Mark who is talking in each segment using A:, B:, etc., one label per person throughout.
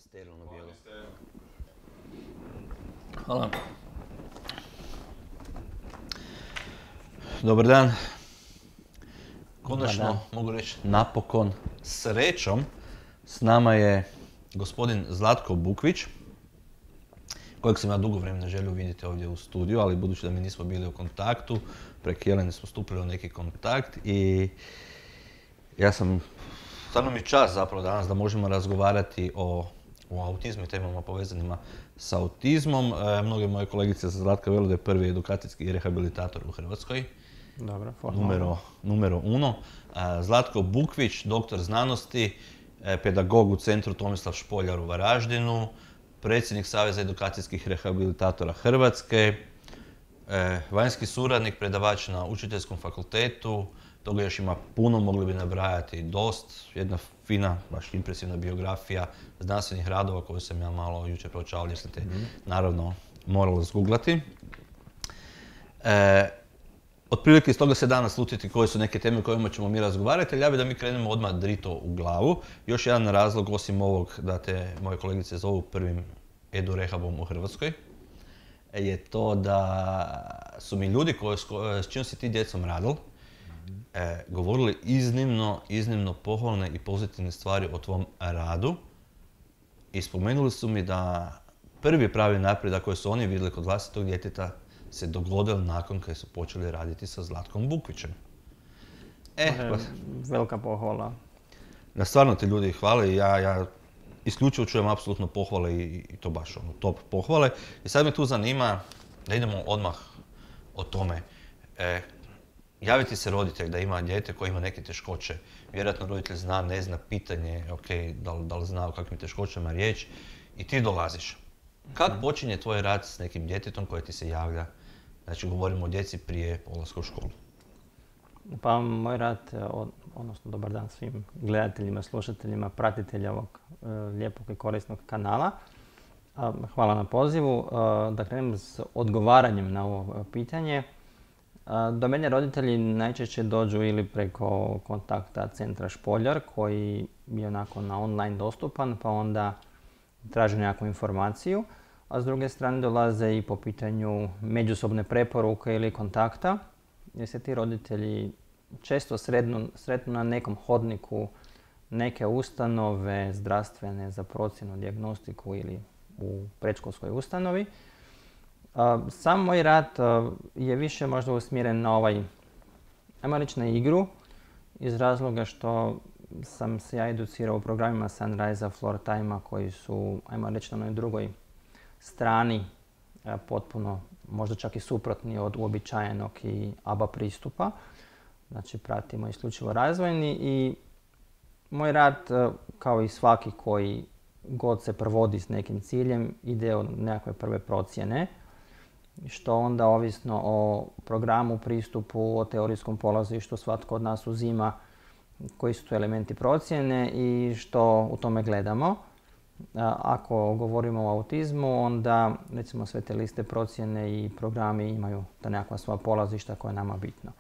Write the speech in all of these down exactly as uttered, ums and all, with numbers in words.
A: sterilno bijelo.
B: Hvala. Dobar dan. Konačno, mogu reći, napokon, srećom, s nama je gospodin Zlatko Bukvić, kojeg sam ja dugo vremena želio vidjeti ovdje u studiju, ali budući da mi nismo bili u kontaktu, preko Jelene smo stupili u neki kontakt i ja sam, stvarno mi je čast zapravo danas da možemo razgovarati o, o autizmu i temama povezanima s autizmom. E, mnoge moje kolegice za Zlatka vele da je prvi edukacijski rehabilitator u Hrvatskoj.
C: Dobro,
B: numero, numero uno. E, Zlatko Bukvić, doktor znanosti, e, pedagog u Centru Tomislav Špoljar u Varaždinu, predsjednik Saveza edukacijskih rehabilitatora Hrvatske, e, vanjski suradnik, predavač na Učiteljskom fakultetu. Toga još ima puno, mogli bi nabrajati dost. Jedna fina, baš impresivna biografija znanstvenih radova koju sam ja malo jučer proučavao, jer sam te mm. naravno morali zguglati. E, otprilike iz toga se danas slutiti koje su neke teme o kojima ćemo mi razgovarati, ali ja bih da mi krenemo odmah drito u glavu. Još jedan razlog, osim ovog da te moje kolegice zovu prvim edu-rehabom u Hrvatskoj, je to da su mi ljudi koji, s čim si ti djecom radili, E, govorili iznimno, iznimno pohvalne i pozitivne stvari o tvom radu i spomenuli su mi da prvi pravi napredak koji su oni vidjeli kod vlastitog djeteta se dogodili nakon kad su počeli raditi sa Zlatkom Bukvićem.
C: E, pa, velika pohvala.
B: Da, stvarno ti ljudi hvale i ja, ja isključivo čujem apsolutno pohvale i, i to baš ono, top pohvale. I sad me tu zanima da idemo odmah o tome. E, Javiti se roditelj da ima dijete koje ima neke teškoće. Vjerojatno roditelj zna, ne zna, pitanje, ok, da li, da li zna o kakvim teškoćama riječ i ti dolaziš. Kako počinje tvoj rad s nekim djetetom koje ti se javlja? Znači, govorimo o djeci prije polaska u školu.
C: Pa moj rad, odnosno dobar dan svim gledateljima, slušateljima, pratiteljima ovog e, lijepog i korisnog kanala. A, hvala na pozivu. A, da krenem s odgovaranjem na ovo pitanje. Do mene roditelji najčešće dođu ili preko kontakta Centra Špoljar koji je onako na online dostupan, pa onda traže nekakvu informaciju, a s druge strane dolaze i po pitanju međusobne preporuke ili kontakta, jer se ti roditelji često sretnu, sretnu na nekom hodniku neke ustanove zdravstvene za procjenu, dijagnostiku ili u predškolskoj ustanovi. Sam moj rad je više možda usmjeren na ovaj, ajmo reći na igru, iz razloga što sam se ja educirao u programima Sunrise-a, Floor Time-a koji su, ajmo reći, na onoj drugoj strani potpuno, možda čak i suprotni od uobičajenog i A B A pristupa. Znači, pratimo isključivo razvojni i moj rad, kao i svaki koji god se provodi s nekim ciljem, ide od nekakve prve procjene, što onda ovisno o programu, pristupu, o teorijskom polazištu svatko od nas uzima koji su to elementi procjene i što u tome gledamo. Ako govorimo o autizmu, onda recimo sve te liste procjene i programi imaju ta nekakva svoja polazišta koja je nama bitno.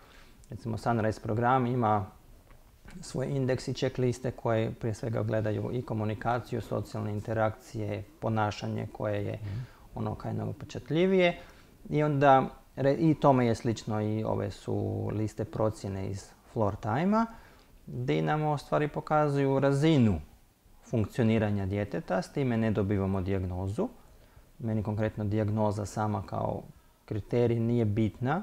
C: Recimo Sunrise program ima svoje indeks i checkliste koje prije svega gledaju i komunikaciju, socijalne interakcije, ponašanje koje je ono kaj najupečatljivije. I onda, i tome je slično i ove su liste procjene iz Floor Time-a, gdje nam u stvari pokazuju razinu funkcioniranja djeteta, s time ne dobivamo dijagnozu. Meni konkretno dijagnoza sama kao kriterij nije bitna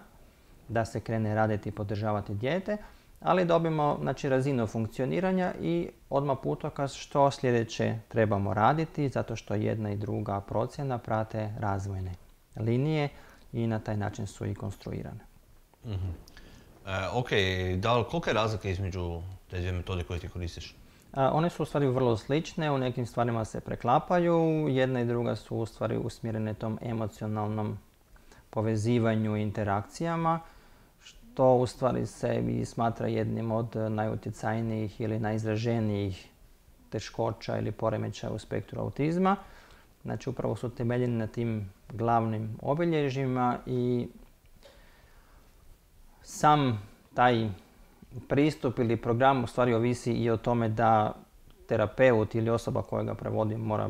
C: da se krene raditi i podržavati dijete, ali dobimo, znači, razinu funkcioniranja i odmah putokaz što sljedeće trebamo raditi, zato što jedna i druga procjena prate razvojne linije i na taj način su i konstruirane.
B: Mm-hmm. E, ok, da li, kolika je razlika između te dvije metode koje ti koristiš?
C: A, one su u stvari vrlo slične, u nekim stvarima se preklapaju, jedna i druga su u stvari usmjerene tom emocionalnom povezivanju i interakcijama, što u stvari se i smatra jednim od najutjecajnijih ili najizraženijih teškoća ili poremećaja u spektru autizma. Znači, upravo su temeljeni na tim glavnim obilježjima i sam taj pristup ili program u stvari ovisi i o tome da terapeut ili osoba koja ga provodi mora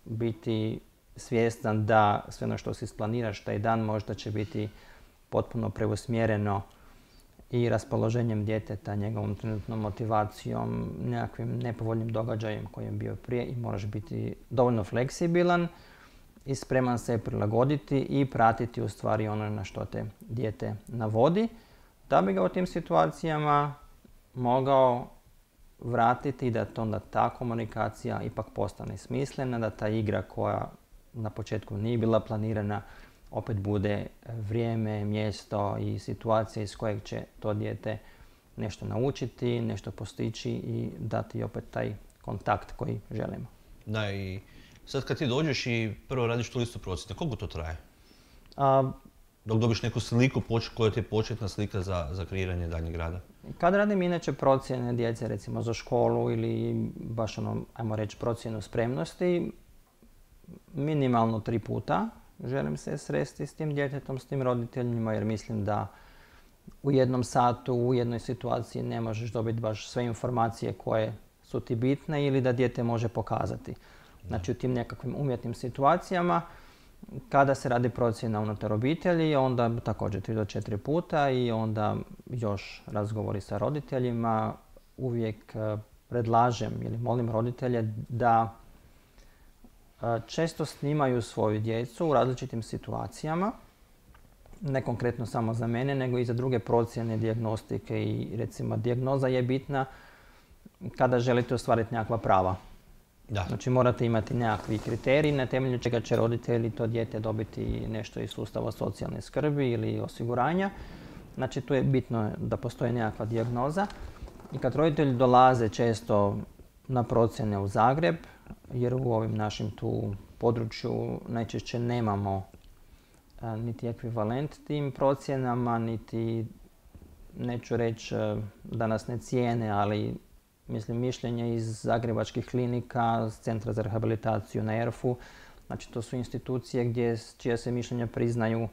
C: biti svjestan da sve ono što si isplaniraš taj dan možda će biti potpuno preusmjereno i raspoloženjem djeteta, njegovom trenutnom motivacijom, nekakvim nepovoljnim događajem koji je bio prije i moraš biti dovoljno fleksibilan i spreman se prilagoditi i pratiti u stvari ono na što te dijete navodi, da bi ga u tim situacijama mogao vratiti i da to onda ta komunikacija ipak postane smislena, da ta igra koja na početku nije bila planirana opet bude vrijeme, mjesto i situacija iz kojeg će to dijete nešto naučiti, nešto postići i dati opet taj kontakt koji želimo.
B: Da, i sad kad ti dođeš i prvo radiš tu listu procjene, koliko to traje?
C: A,
B: Dok dobiš neku sliku koja ti je početna slika za, za kreiranje daljnjeg rada?
C: Kad radim inače procjene djece recimo za školu ili baš ono, ajmo reći, procjenu spremnosti, minimalno tri puta želim se sresti s tim djetetom, s tim roditeljima, jer mislim da u jednom satu, u jednoj situaciji ne možeš dobiti baš sve informacije koje su ti bitne ili da dijete može pokazati. Znači u tim nekakvim umjetnim situacijama, kada se radi procjena unutar obitelji, onda također tri do četiri puta i onda još razgovori sa roditeljima. Uvijek predlažem ili molim roditelje da često snimaju svoju djecu u različitim situacijama, ne konkretno samo za mene, nego i za druge procjene, dijagnostike i recimo dijagnoza je bitna kada želite ostvariti nekakva prava.
B: Da.
C: Znači morate imati nekakvi kriteriji na temelju čega će roditelji to dijete dobiti nešto iz sustava socijalne skrbi ili osiguranja. Znači tu je bitno da postoji nekakva dijagnoza i kad roditelji dolaze često na procjene u Zagreb, jer u ovim našim tu području najčešće nemamo a, niti ekvivalent tim procjenama, niti, neću reći da nas ne cijene, ali mislim mišljenje iz zagrebačkih klinika, Centra za rehabilitaciju na Erfu. Znači to su institucije gdje, čija se mišljenja priznaju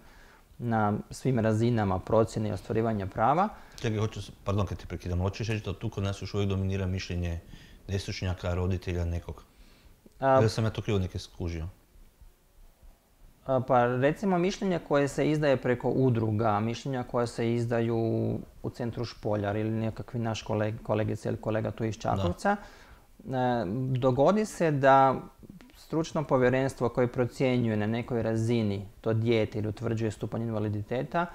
C: na svim razinama procjene i ostvarivanja prava.
B: Čekaj, hoću, pardon kad ti prekidam, hoćeš reći da tu kod nas još uvijek dominira mišljenje nestručnjaka, roditelja, nekog? Ili sam ja to krivo neke skužio?
C: A, pa recimo mišljenja koje se izdaje preko udruga, mišljenja koje se izdaju u centru Špoljar ili nekakvi naš koleg, kolegica ili kolega tu iz Čakovca, da. Dogodi se da stručno povjerenstvo koje procjenjuje na nekoj razini to dijete ili utvrđuje stupanj invaliditeta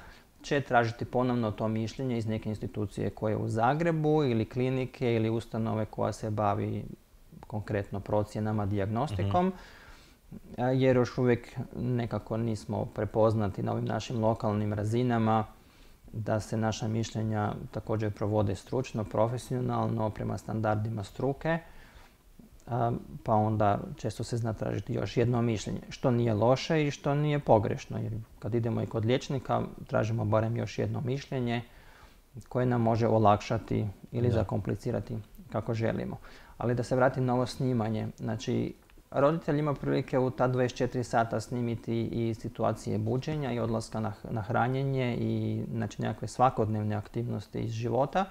C: će tražiti ponovno to mišljenje iz neke institucije koje je u Zagrebu ili klinike ili ustanove koja se bavi konkretno procjenama, dijagnostikom, mm-hmm. jer još uvijek nekako nismo prepoznati na ovim našim lokalnim razinama da se naša mišljenja također provode stručno, profesionalno, prema standardima struke, pa onda često se zna tražiti još jedno mišljenje, što nije loše i što nije pogrešno, jer kad idemo i kod liječnika tražimo barem još jedno mišljenje koje nam može olakšati ili da. zakomplicirati kako želimo. Ali da se vratim na ovo snimanje, znači roditelj ima prilike u ta dvadeset četiri sata snimiti i situacije buđenja i odlaska na, na hranjenje i znači nekakve svakodnevne aktivnosti iz života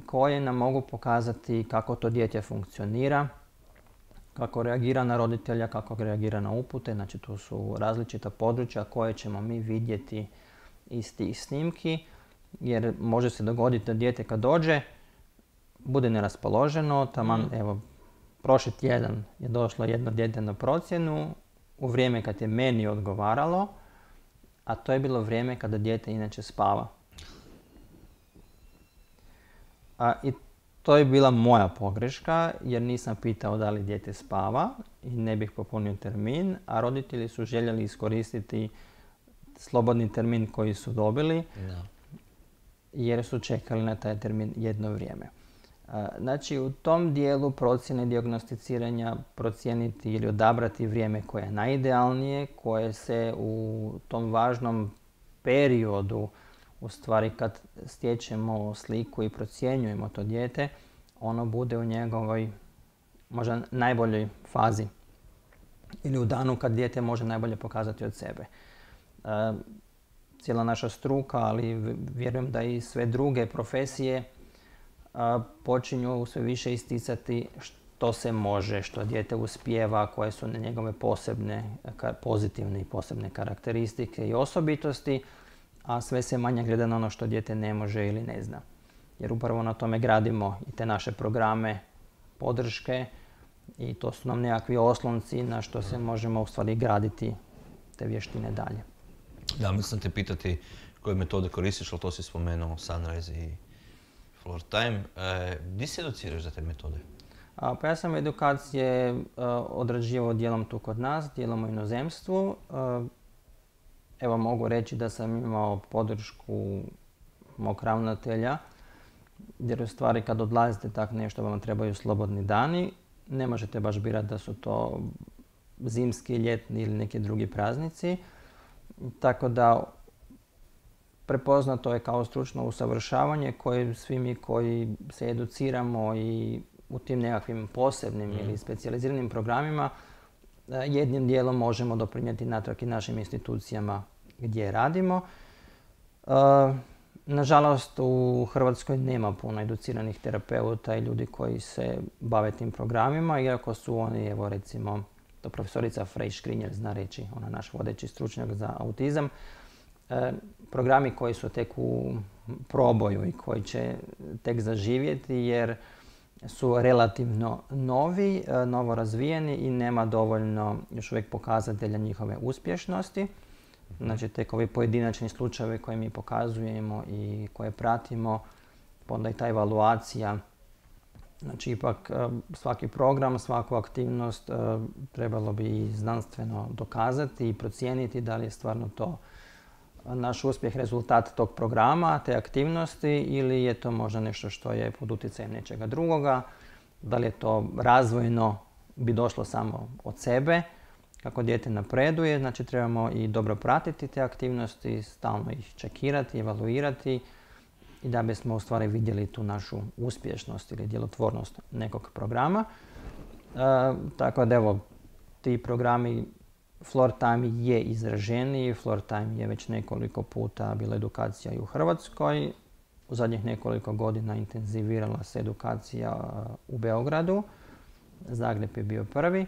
C: koje nam mogu pokazati kako to dijete funkcionira, kako reagira na roditelja, kako reagira na upute. Znači tu su različita područja koje ćemo mi vidjeti iz tih snimki, jer može se dogoditi da dijete kad dođe bude neraspoloženo, taman, mm. evo, prošli tjedan je došlo jedno dijete na procjenu u vrijeme kad je meni odgovaralo, a to je bilo vrijeme kada dijete inače spava. A, I to je bila moja pogreška jer nisam pitao da li dijete spava i ne bih popunio termin, a roditelji su željeli iskoristiti slobodni termin koji su dobili no. jer su čekali na taj termin jedno vrijeme. Znači u tom dijelu procjene dijagnosticiranja procijeniti ili odabrati vrijeme koje je najidealnije, koje se u tom važnom periodu, u stvari kad stječemo sliku i procjenjujemo to dijete, ono bude u njegovoj možda najboljoj fazi ili u danu kad dijete može najbolje pokazati od sebe. E, cijela naša struka, ali vjerujem da i sve druge profesije a, počinju sve više isticati što se može, što dijete uspijeva, koje su njegove posebne, pozitivne i posebne karakteristike i osobitosti, a sve se manje gleda na ono što dijete ne može ili ne zna. Jer upravo na tome gradimo i te naše programe podrške i to su nam nekakvi oslonci na što se možemo u stvari graditi te vještine dalje.
B: Da, mislim te pitati koje metode koristiš, ali to si spomenuo, Sunrise i Floor Time. E, gdje se educiraš za te metode?
C: A, pa ja sam edukacije a, odrađivao dijelom tu kod nas, dijelom u inozemstvu. A, evo mogu reći da sam imao podršku mog ravnatelja, jer u stvari kad odlazite tak nešto vam trebaju slobodni dani. Ne možete baš birati da su to zimski, ljetni ili neki drugi praznici. Tako da prepoznato je kao stručno usavršavanje koje svi mi koji se educiramo i u tim nekakvim posebnim mm. ili specijaliziranim programima jednim dijelom možemo doprinijeti natrag i našim institucijama gdje radimo. Nažalost, u Hrvatskoj nema puno educiranih terapeuta i ljudi koji se bave tim programima, iako su oni, evo recimo, to profesorica Frej Škrinjer zna reći, ona naš vodeći stručnjak za autizam, e, programi koji su tek u proboju i koji će tek zaživjeti jer su relativno novi, e, novo razvijeni i nema dovoljno još uvijek pokazatelja njihove uspješnosti. Znači, tek ovi pojedinačni slučajevi koje mi pokazujemo i koje pratimo, pa onda i ta evaluacija. Znači, ipak svaki program, svaku aktivnost trebalo bi znanstveno dokazati i procijeniti da li je stvarno to naš uspjeh rezultat tog programa, te aktivnosti ili je to možda nešto što je pod utjecajem nečega drugoga, da li je to razvojno bi došlo samo od sebe. Kako dijete napreduje, znači trebamo i dobro pratiti te aktivnosti, stalno ih čekirati, evaluirati i da bismo u stvari vidjeli tu našu uspješnost ili djelotvornost nekog programa. E, tako da evo, ti programi Floor Time je izraženiji, Floor Time je već nekoliko puta bila edukacija i u Hrvatskoj. U zadnjih nekoliko godina intenzivirala se edukacija u Beogradu, Zagreb je bio prvi.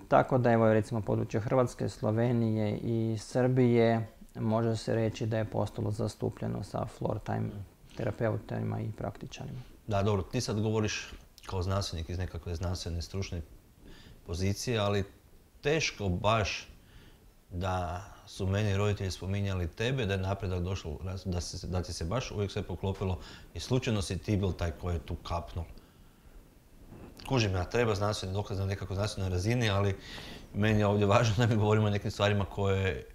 C: Tako da evo recimo područje Hrvatske, Slovenije i Srbije može se reći da je postalo zastupljeno sa Floor Time terapeutima i praktičarima.
B: Da, dobro, ti sad govoriš kao znanstvenik iz nekakve znanstvene stručne pozicije, ali teško baš da su meni roditelji spominjali tebe, da je napredak došao, da, se, da ti se baš uvijek sve poklopilo i slučajno si ti bil taj koji je tu kapnuo. Kužim ja, treba znanstveni dokaz na nekakvoj znanstvenoj razini, ali meni je ovdje važno da mi govorimo o nekim stvarima koje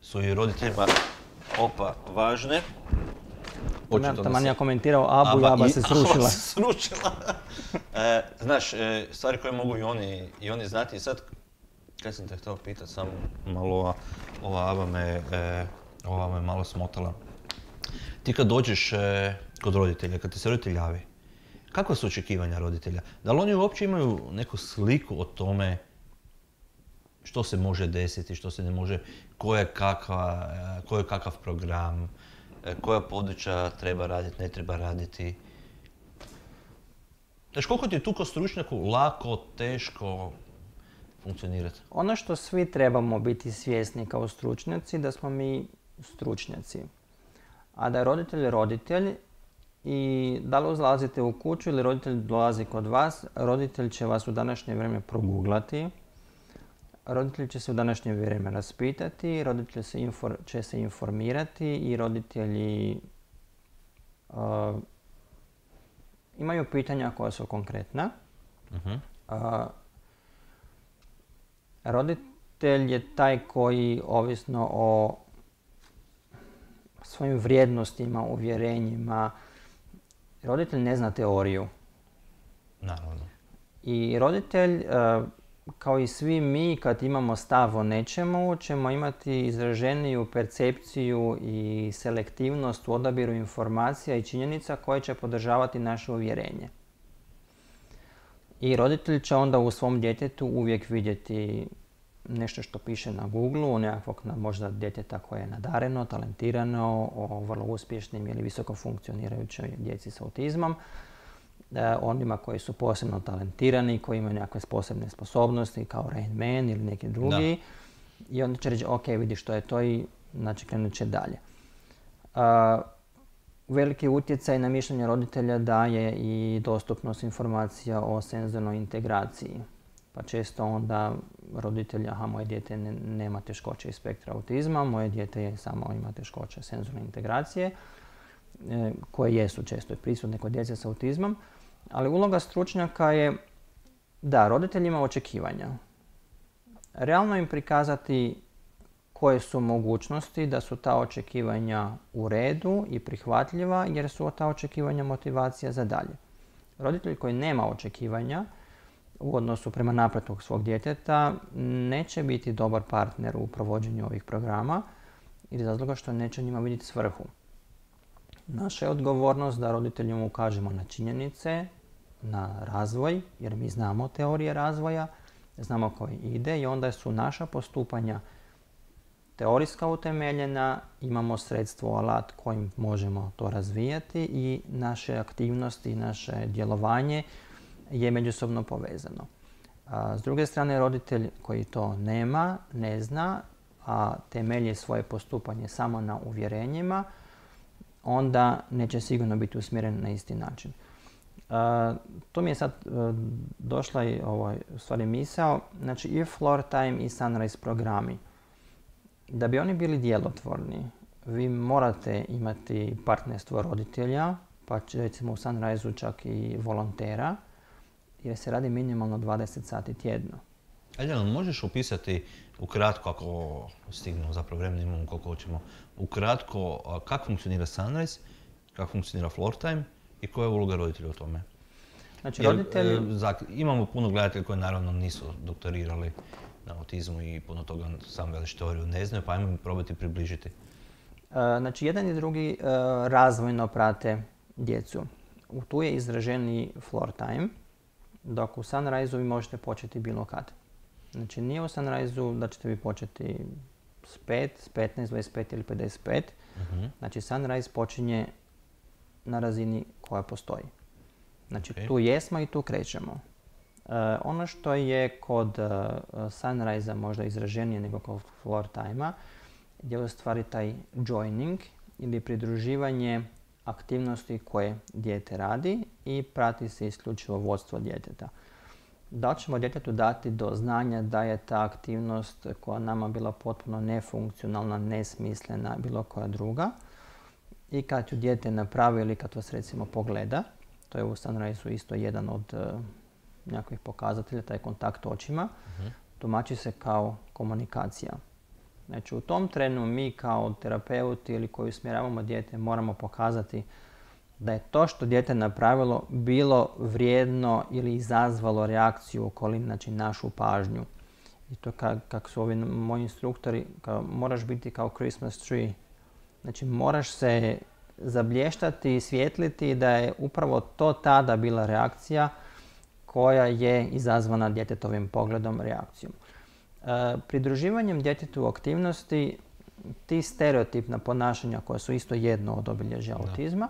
B: su i roditeljima opa važne.
C: Taman ja komentirao Abu i Aba se srušila.
B: Aba se srušila. e, znaš, e, stvari koje mogu i oni, i oni znati. I sad, kad sam te htio pitati, samo malo ova, ova Aba me, e, ova me malo smotala. Ti kad dođeš e, kod roditelja, kad ti se roditelj javi, kakva su očekivanja roditelja? Da li oni uopće imaju neku sliku o tome što se može desiti, što se ne može, ko je, kakva, ko je kakav program, koja područja treba raditi, ne treba raditi? Znaš, koliko ti je tu kao stručnjaku lako, teško funkcionirati?
C: Ono što svi trebamo biti svjesni kao stručnjaci, da smo mi stručnjaci. A da je roditelj roditelj, i da li uzlazite u kuću ili roditelj dolazi kod vas, roditelj će vas u današnje vrijeme proguglati, roditelj će se u današnje vrijeme raspitati, roditelj se infor, će se informirati i roditelji uh, imaju pitanja koja su konkretna. Uh-huh. Uh, roditelj je taj koji, ovisno o svojim vrijednostima, uvjerenjima, roditelj ne zna teoriju.
B: Naravno.
C: I roditelj, kao i svi mi, kad imamo stav o nečemu, ćemo imati izraženiju percepciju i selektivnost u odabiru informacija i činjenica koje će podržavati naše uvjerenje. I roditelj će onda u svom djetetu uvijek vidjeti nešto što piše na Google-u, nekakvog možda djeteta koje je nadareno, talentirano, o vrlo uspješnim ili visoko funkcionirajućoj djeci s autizmom. onima koji su posebno talentirani, koji imaju nekakve posebne sposobnosti kao Rain Man ili neki drugi. Da. I onda će reći, ok, vidi što je to i znači krenut će dalje. Uh, veliki utjecaj na mišljenje roditelja daje i dostupnost informacija o senzornoj integraciji. Pa često onda roditelji, aha, moje dijete ne, nema teškoće iz spektra autizma, moje dijete je samo ima teškoće senzorne integracije, e, koje jesu često prisutne kod djece s autizmom. Ali uloga stručnjaka je da roditelj ima očekivanja. Realno im prikazati koje su mogućnosti, da su ta očekivanja u redu i prihvatljiva, jer su ta očekivanja motivacija za dalje. Roditelj koji nema očekivanja u odnosu prema napretku svog djeteta neće biti dobar partner u provođenju ovih programa iz razloga što neće njima vidjeti svrhu. Naša je odgovornost da roditeljima ukažemo na činjenice, na razvoj, jer mi znamo teorije razvoja, znamo koji ide i onda su naša postupanja teorijska utemeljena, imamo sredstvo, alat kojim možemo to razvijati i naše aktivnosti, naše djelovanje je međusobno povezano. A s druge strane, roditelj koji to nema, ne zna, a temelji svoje postupanje samo na uvjerenjima, onda neće sigurno biti usmjeren na isti način. Uh, to mi je sad uh, došla i ovaj, stvari misao. Znači, i Floor Time i Sunrise programi. Da bi oni bili djelotvorni, vi morate imati partnerstvo roditelja, pa recimo u Sunrise-u čak i volontera, jer se radi minimalno dvadeset sati tjedno.
B: Aljana, možeš opisati ukratko, ako stignemo, zapravo vremena imamo koliko hoćemo, ukratko kako funkcionira Sunrise, kako funkcionira Floor Time i koja je uloga roditelja u tome?
C: Znači, roditelji...
B: Jer, imamo puno gledatelja koji naravno nisu doktorirali na autizmu i puno toga sam veliš teoriju ne znaju, pa ajmo probati približiti.
C: Znači, jedan i drugi razvojno prate djecu. Tu je izraženiji Floor Time, dok u Sunrise-u vi možete početi bilo kad. Znači, nije u Sunrise-u da ćete vi početi s pet, s petnaest, dvadeset pet ili pedeset pet. Uh-huh. Znači, Sunrise počinje na razini koja postoji. Znači, okay. Tu jesmo i tu krećemo. Uh, ono što je kod uh, Sunrise-a možda izraženije nego kod Floor Time-a je u stvari taj joining ili pridruživanje aktivnosti koje dijete radi i prati se isključivo vodstvo djeteta. Da ćemo djetetu dati do znanja da je ta aktivnost koja nama bila potpuno nefunkcionalna, nesmislena, bilo koja druga. I kad ju dijete napravi ili kad vas recimo pogleda, to je u Sunrise-u isto jedan od uh, nekakvih pokazatelja, taj kontakt očima, uh-huh. tumači se kao komunikacija. Znači, u tom trenu mi kao terapeuti ili koji usmjeravamo dijete moramo pokazati da je to što dijete napravilo bilo vrijedno ili izazvalo reakciju okolini, znači našu pažnju. I to kako kak su ovi moji instruktori, kao, moraš biti kao Christmas tree. Znači, moraš se zablještati i svjetliti da je upravo to tada bila reakcija koja je izazvana djetetovim pogledom, reakcijom. E, pridruživanjem djetetu u aktivnosti, ti stereotipna ponašanja koja su isto jedno od obilježja da. autizma,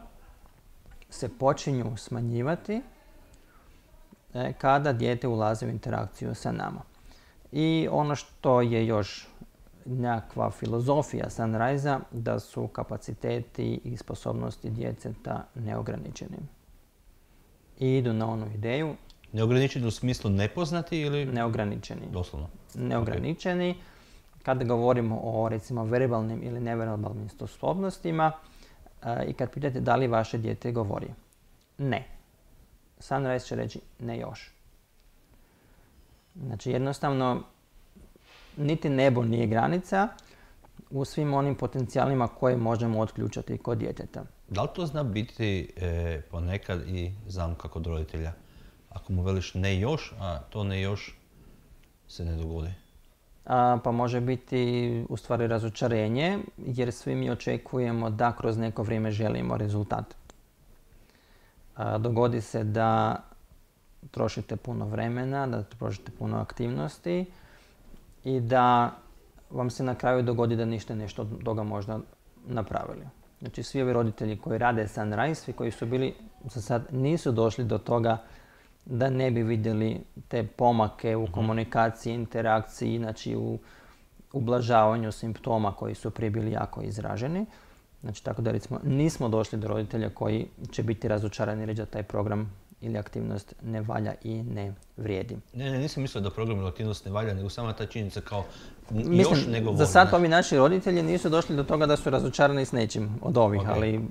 C: se počinju smanjivati e, kada dijete ulazi u interakciju sa nama. I ono što je još nekakva filozofija Sunrise-a, da su kapaciteti i sposobnosti djeteta neograničeni. I idu na onu ideju.
B: Neograničeni u smislu nepoznati ili?
C: Neograničeni.
B: Doslovno.
C: Neograničeni. Okay. Kada govorimo o recimo verbalnim ili neverbalnim sposobnostima uh, i kad pitate da li vaše dijete govori. Ne. Sunrise će reći ne još. Znači jednostavno niti nebo nije granica u svim onim potencijalima koje možemo otključati kod djeteta.
B: Da li to zna biti e, ponekad i zamka kod roditelja? Ako mu veliš ne još, a to ne još se ne dogodi?
C: A, pa može biti u stvari razočarenje, jer svi mi očekujemo da kroz neko vrijeme želimo rezultat. A, dogodi se da trošite puno vremena, da trošite puno aktivnosti i da vam se na kraju dogodi da niste nešto od toga možda napravili. Znači svi ovi roditelji koji rade Sunrise, svi koji su bili za sad nisu došli do toga da ne bi vidjeli te pomake u komunikaciji, interakciji, znači u ublažavanju simptoma koji su prije bili jako izraženi. Znači tako da recimo nismo došli do roditelja koji će biti razočarani reći da taj program ili aktivnost ne valja i ne vrijedi.
B: Ne, ne, nisam mislio da program ili aktivnost ne valja, nego sama ta činjenica kao
C: Mislim,
B: još nego
C: za sad ovi naši roditelji nisu došli do toga da su razočarani s nečim od ovih,
B: Okay.
C: ali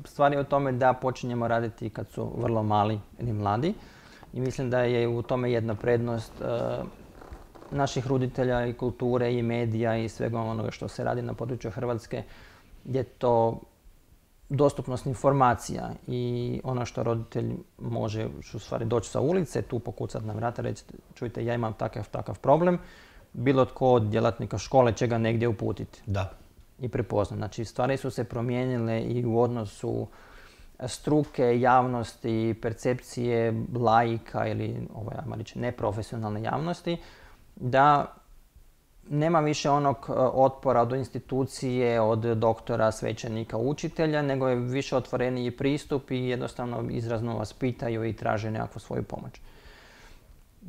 C: stvar je u tome da počinjemo raditi kad su vrlo mali ili mladi i mislim da je u tome jedna prednost uh, naših roditelja i kulture i medija i svega onoga što se radi na području Hrvatske, je to dostupnost informacija i ono što roditelj može u stvari doći sa ulice, tu pokucati na vrata, reći čujte ja imam takav, takav problem, bilo tko od djelatnika škole će ga negdje uputiti.
B: Da.
C: I prepoznat. Znači stvari su se promijenile i u odnosu struke, javnosti, percepcije laika ili ovaj, ajmo reći, neprofesionalne javnosti, da nema više onog otpora od institucije, od doktora, svećenika, učitelja, nego je više otvoreniji pristup i jednostavno izrazno vas pitaju i traže nekakvu svoju pomoć.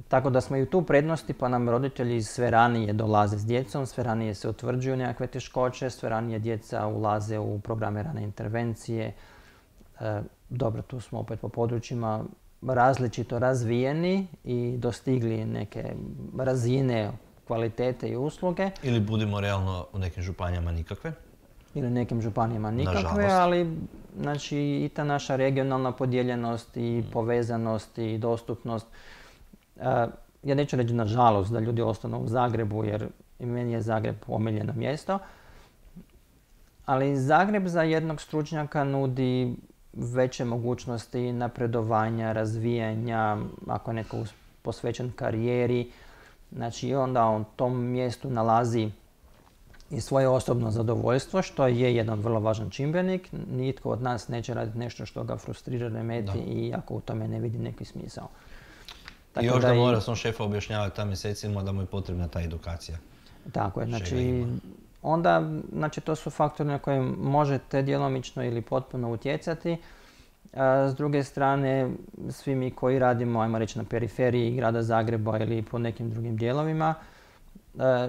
C: Tako da smo i u tu prednosti, pa nam roditelji sve ranije dolaze s djecom, sve ranije se utvrđuju nekakve teškoće, sve ranije djeca ulaze u programe rane intervencije. E, dobro, tu smo opet po područjima različito razvijeni i dostigli neke razine kvalitete i usluge.
B: Ili budimo realno u nekim županijama nikakve.
C: Ili u nekim županijama nikakve,
B: Nažalost.
C: ali znači, i ta naša regionalna podijeljenost i mm. povezanost i dostupnost. Uh, ja neću reći nažalost da ljudi ostanu u Zagrebu jer i meni je Zagreb omiljeno mjesto, ali Zagreb za jednog stručnjaka nudi veće mogućnosti napredovanja, razvijanja, ako je netko posvećen karijeri. Znači onda on u tom mjestu nalazi i svoje osobno zadovoljstvo, što je jedan vrlo važan čimbenik. Nitko od nas neće raditi nešto što ga frustrira, remeti i ako u tome ne vidi neki smisao.
B: Tako I još da, da mora svom šefa objašnjavati ta mjesecima da mu je potrebna ta edukacija.
C: Tako je, znači onda, znači to su faktori na koje možete djelomično ili potpuno utjecati. A s druge strane, svi mi koji radimo, ajmo reći, na periferiji grada Zagreba ili po nekim drugim dijelovima, e,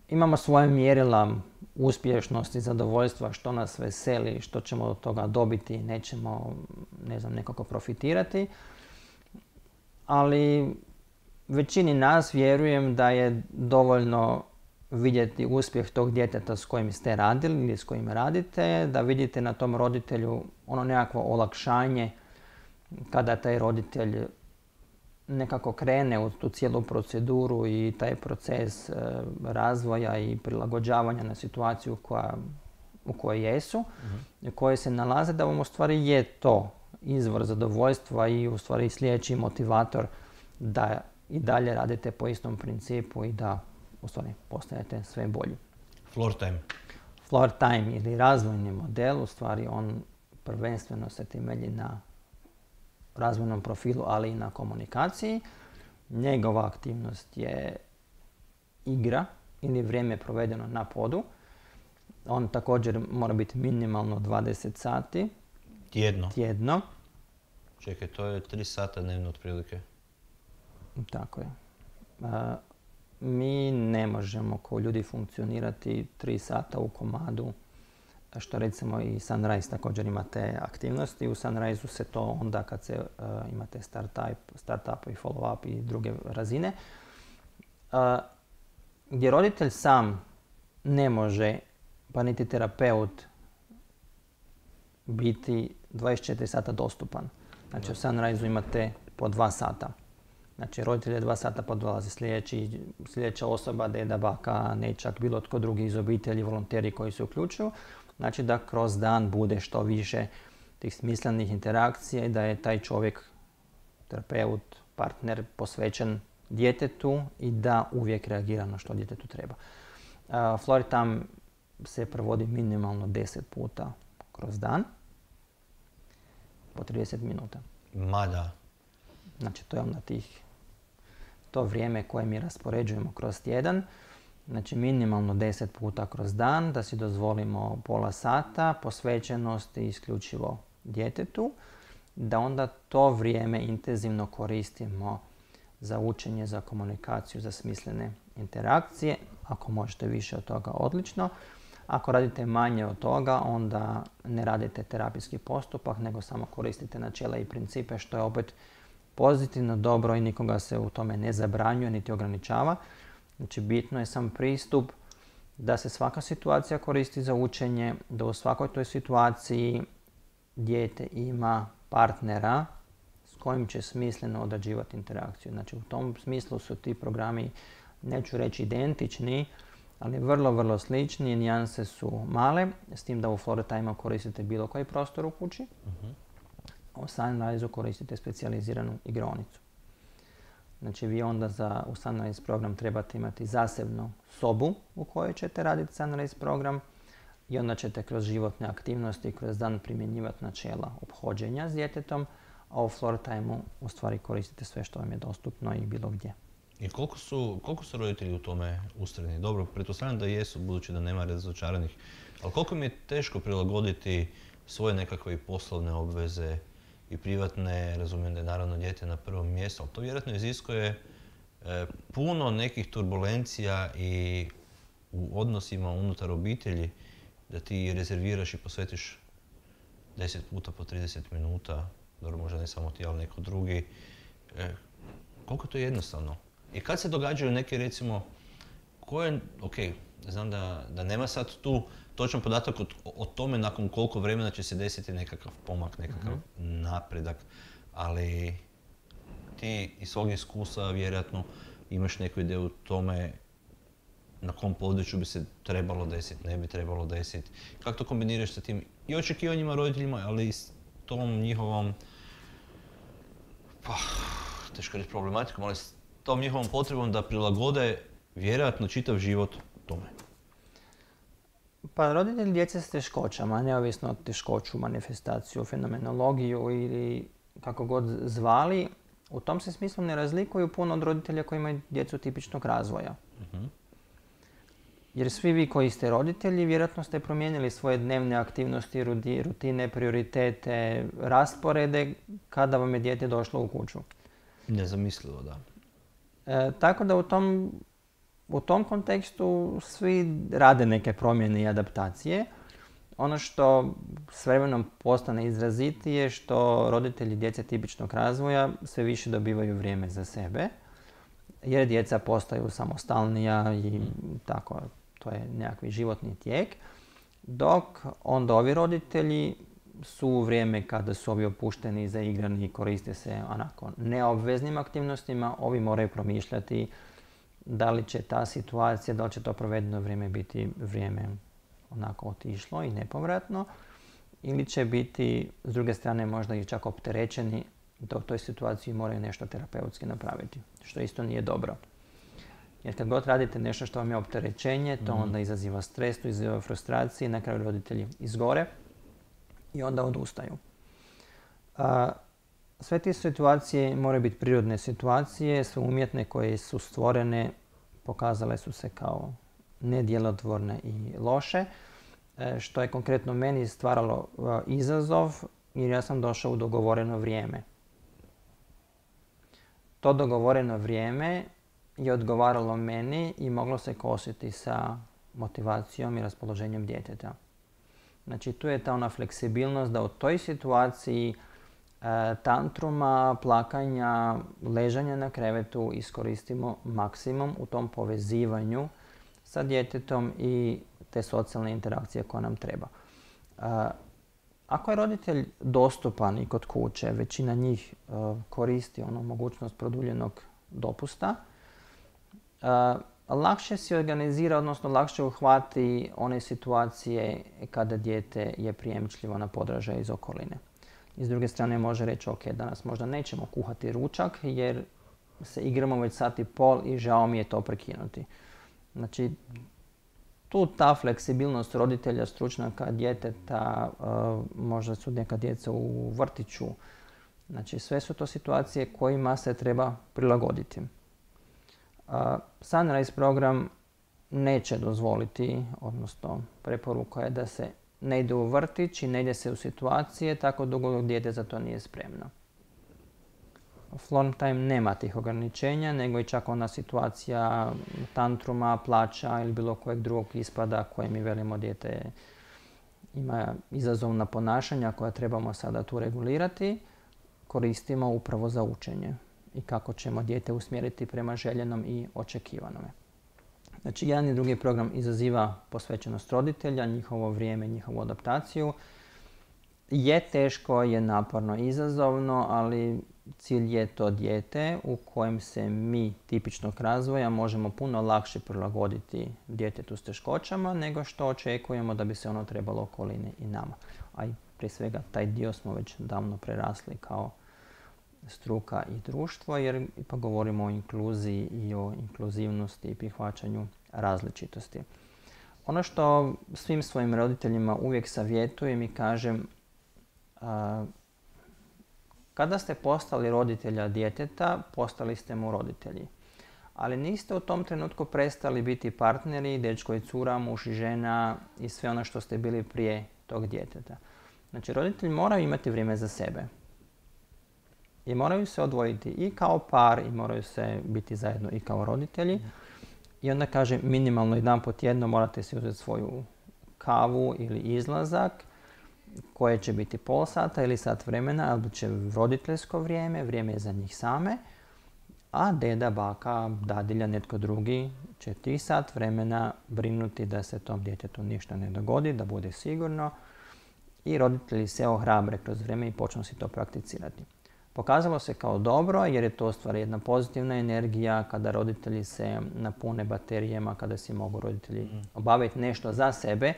C: imamo svoje mjerila uspješnosti, zadovoljstva, što nas veseli, što ćemo od toga dobiti, nećemo, ne znam, nekako profitirati. Ali većini nas vjerujem da je dovoljno vidjeti uspjeh tog djeteta s kojim ste radili ili s kojim radite, da vidite na tom roditelju ono nekakvo olakšanje kada taj roditelj nekako krene u tu cijelu proceduru i taj proces e, razvoja i prilagođavanja na situaciju koja, u kojoj jesu, uh-huh. u kojoj se nalaze, da vam u stvari je to izvor zadovoljstva i u stvari sljedeći motivator da i dalje radite po istom principu i da u stvari postajete sve bolji.
B: Floor time.
C: Floor time ili razvojni model, u stvari on prvenstveno se temelji na razvojnom profilu, ali i na komunikaciji. Njegova aktivnost je igra ili vrijeme provedeno na podu. On također mora biti minimalno dvadeset sati.
B: Tjedno?
C: Tjedno.
B: Čekaj, to je tri sata dnevno otprilike.
C: Tako je. A, mi ne možemo kao ljudi funkcionirati tri sata u komadu, što recimo i Sunrise također ima te aktivnosti. U Sunrise-u se to onda kad se uh, imate start-up, start-up i follow-up i druge razine, uh, gdje roditelj sam ne može, pa niti terapeut, biti dvadeset četiri sata dostupan. Znači u Sunrise-u imate po dva sata. Znači roditelj je dva sata pa dolazi sljedeći, sljedeća osoba, deda, baka, nečak, bilo tko drugi iz obitelji, volonteri koji se uključuju. Znači da kroz dan bude što više tih smislenih interakcija i da je taj čovjek, terapeut, partner posvećen djetetu i da uvijek reagira na što djetetu treba. Uh, Floor time se provodi minimalno deset puta kroz dan, po trideset minuta.
B: Mada.
C: Znači to je onda tih, to vrijeme koje mi raspoređujemo kroz tjedan. Znači minimalno deset puta kroz dan, da si dozvolimo pola sata posvećenosti isključivo djetetu, da onda to vrijeme intenzivno koristimo za učenje, za komunikaciju, za smislene interakcije. Ako možete više od toga, odlično. Ako radite manje od toga, onda ne radite terapijski postupak, nego samo koristite načela i principe, što je opet pozitivno, dobro i nikoga se u tome ne zabranjuje niti ograničava. Znači bitno je sam pristup da se svaka situacija koristi za učenje, da u svakoj toj situaciji dijete ima partnera s kojim će smisleno odrađivati interakciju. Znači u tom smislu su ti programi, neću reći identični, ali vrlo, vrlo slični, nijanse su male, s tim da u Floratime koristite bilo koji prostor u kući. Uh-huh. U Sunrise koristite specijaliziranu igraonicu. Znači vi onda za, u Sunrise program trebate imati zasebnu sobu u kojoj ćete raditi Sunrise program i onda ćete kroz životne aktivnosti kroz dan primjenjivati načela ophođenja s djetetom, a u Floratime u stvari koristite sve što vam je dostupno i bilo gdje.
B: I koliko su, koliko su roditelji u tome ustrajni? Dobro, pretpostavljam da jesu, budući da nema razočaranih, ali koliko mi je teško prilagoditi svoje nekakve poslovne obveze i privatne, razumijem da je naravno dijete na prvom mjestu, ali to vjerojatno iziskuje e, puno nekih turbulencija i u odnosima unutar obitelji, da ti rezerviraš i posvetiš deset puta po trideset minuta, dobro možda ne samo ti, ali neko drugi. E, koliko je to jednostavno? I kad se događaju neke, recimo, koje, ok, znam da, da nema sad tu točan podatak o, o tome nakon koliko vremena će se desiti nekakav pomak, nekakav mm-hmm. napredak, ali ti iz svog iskustva vjerojatno imaš neku ideju o tome na kom području bi se trebalo desiti, ne bi trebalo desiti. Kako to kombiniraš sa tim i očekivanjima roditeljima, ali i s tom njihovom, pa, teško reći problematikom, ali s tom njihovom potrebom da prilagode vjerojatno čitav život tome?
C: Pa roditelji djece s teškoćama, neovisno od teškoću, manifestaciju, fenomenologiju ili kako god zvali, u tom se smislu ne razlikuju puno od roditelja koji imaju djecu tipičnog razvoja. Uh-huh. Jer svi vi koji ste roditelji vjerojatno ste promijenili svoje dnevne aktivnosti, rutine, prioritete, rasporede kada vam je dijete došlo u kuću.
B: Nezamislivo, da.
C: E, tako da u tom, u tom kontekstu svi rade neke promjene i adaptacije. Ono što s vremenom postane izrazitije, što roditelji djece tipičnog razvoja sve više dobivaju vrijeme za sebe, jer djeca postaju samostalnija i tako, to je nekakvi životni tijek. Dok onda ovi roditelji su u vrijeme kada su ovi opušteni, zaigrani i koriste se onako neobveznim aktivnostima, ovi moraju promišljati da li će ta situacija, da li će to provedeno vrijeme biti vrijeme onako otišlo i nepovratno, ili će biti s druge strane možda i čak opterećeni da u toj situaciji moraju nešto terapeutski napraviti, što isto nije dobro. Jer kad god radite nešto što vam je opterećenje, to onda izaziva stres, to izaziva frustracije i na kraju roditelji izgore i onda odustaju. A, sve te situacije moraju biti prirodne situacije, su umjetne koje su stvorene, pokazale su se kao nedjelotvorne i loše, što je konkretno meni stvaralo izazov jer ja sam došao u dogovoreno vrijeme. To dogovoreno vrijeme je odgovaralo meni i moglo se kositi sa motivacijom i raspoloženjem djeteta. Znači tu je ta ona fleksibilnost da u toj situaciji e, tantruma, plakanja, ležanja na krevetu iskoristimo maksimum u tom povezivanju sa djetetom i te socijalne interakcije koja nam treba. E, ako je roditelj dostupan i kod kuće, većina njih e, koristi onu mogućnost produljenog dopusta, e, lakše si organizira, odnosno lakše uhvati one situacije kada dijete je prijemčljivo na podražaj iz okoline. I s druge strane može reći, ok, danas možda nećemo kuhati ručak jer se igramo već sat i pol i žao mi je to prekinuti. Znači, tu ta fleksibilnost roditelja, stručnjaka, djeteta, možda su neka djeca u vrtiću. Znači, sve su to situacije kojima se treba prilagoditi. Uh, Sunrise program neće dozvoliti, odnosno preporuka je da se ne ide u vrtić i ne ide se u situacije tako dugo dok dijete za to nije spremno. Florm time nema tih ograničenja, nego i čak ona situacija tantruma, plaća ili bilo kojeg drugog ispada koje mi velimo dijete ima izazovna ponašanja koja trebamo sada tu regulirati, koristimo upravo za učenje i kako ćemo dijete usmjeriti prema željenom i očekivanome. Znači, jedan i drugi program izaziva posvećenost roditelja, njihovo vrijeme, njihovu adaptaciju. Je teško, je naporno, izazovno, ali cilj je to dijete u kojem se mi tipičnog razvoja možemo puno lakše prilagoditi djetetu s teškoćama nego što očekujemo da bi se ono trebalo okolini i nama. A i prije svega taj dio smo već davno prerasli kao struka i društvo, jer ipak govorimo o inkluziji i o inkluzivnosti i prihvaćanju različitosti. Ono što svim svojim roditeljima uvijek savjetujem i kažem, a, kada ste postali roditelja djeteta, postali ste mu roditelji. Ali niste u tom trenutku prestali biti partneri, dečko i cura, muž i žena i sve ono što ste bili prije tog djeteta. Znači, roditelji moraju imati vrijeme za sebe. I moraju se odvojiti i kao par i moraju se biti zajedno i kao roditelji. I onda kaže minimalno jedan po tjedno morate si uzeti svoju kavu ili izlazak koje će biti pol sata ili sat vremena, ali će roditeljsko vrijeme, vrijeme je za njih same, a deda, baka, dadilja, netko drugi će ti sat vremena brinuti da se tom djetetu ništa ne dogodi, da bude sigurno i roditelji se ohrabre kroz vrijeme i počnu si to prakticirati. Pokazalo se kao dobro jer je to stvar jedna pozitivna energija kada roditelji se napune baterijama, kada si mogu roditelji obaviti nešto za sebe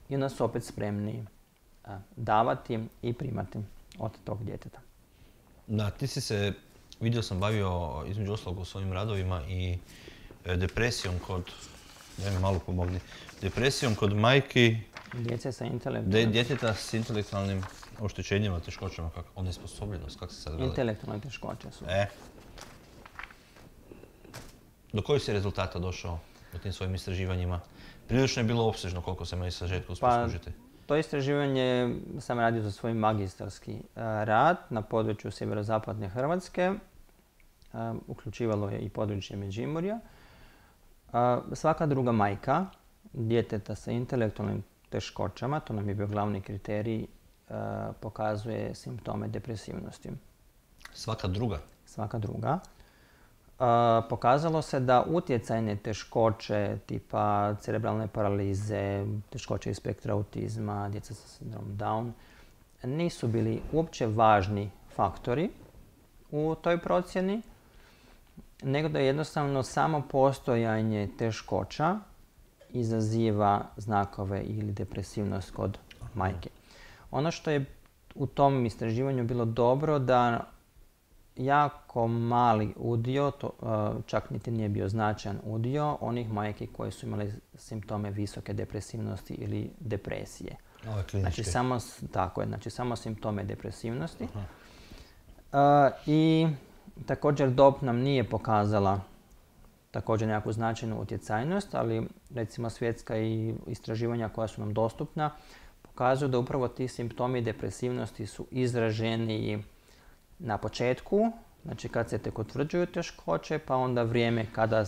C: i onda su opet spremni davati i primati od tog djeteta.
B: Da, ti si se, vidio sam, bavio između ostalog u svojim radovima i depresijom kod, da mi malo pomogni, depresijom kod majki,
C: Djece sa intelektualnim...
B: djeteta s intelektualnim oštećenjima, teškoćama, kako, onesposobljenost, kako se sad gleda?
C: Intelektualne teškoće su.
B: E. Do kojih si rezultata došao u tim svojim istraživanjima? Prilično je bilo opsežno, koliko se meni sažetku uspio služiti.
C: To istraživanje sam radio za svoj magistarski rad na području sjeverozapadne Hrvatske. Uključivalo je i područje Međimurja. Svaka druga majka djeteta sa intelektualnim teškoćama, to nam je bio glavni kriterij, pokazuje simptome depresivnosti.
B: Svaka druga?
C: Svaka druga. Pokazalo se da utjecajne teškoće tipa cerebralne paralize, teškoće iz spektra autizma, djeca sa sindromom Down nisu bili uopće važni faktori u toj procjeni, nego da jednostavno samo postojanje teškoća izaziva znakove ili depresivnost kod majke. Ono što je u tom istraživanju bilo dobro da jako mali udio, to, čak niti nije bio značajan udio, onih majki koje su imali simptome visoke depresivnosti ili depresije.
B: Ovo je klinički.
C: Znači samo, tako je, znači samo simptome depresivnosti. Uh, I također dob nam nije pokazala također nekakvu značajnu utjecajnost, ali recimo svjetska i istraživanja koja su nam dostupna pokazuju da upravo ti simptomi depresivnosti su izraženiji na početku, znači kad se tek utvrđuju teškoće, pa onda vrijeme kada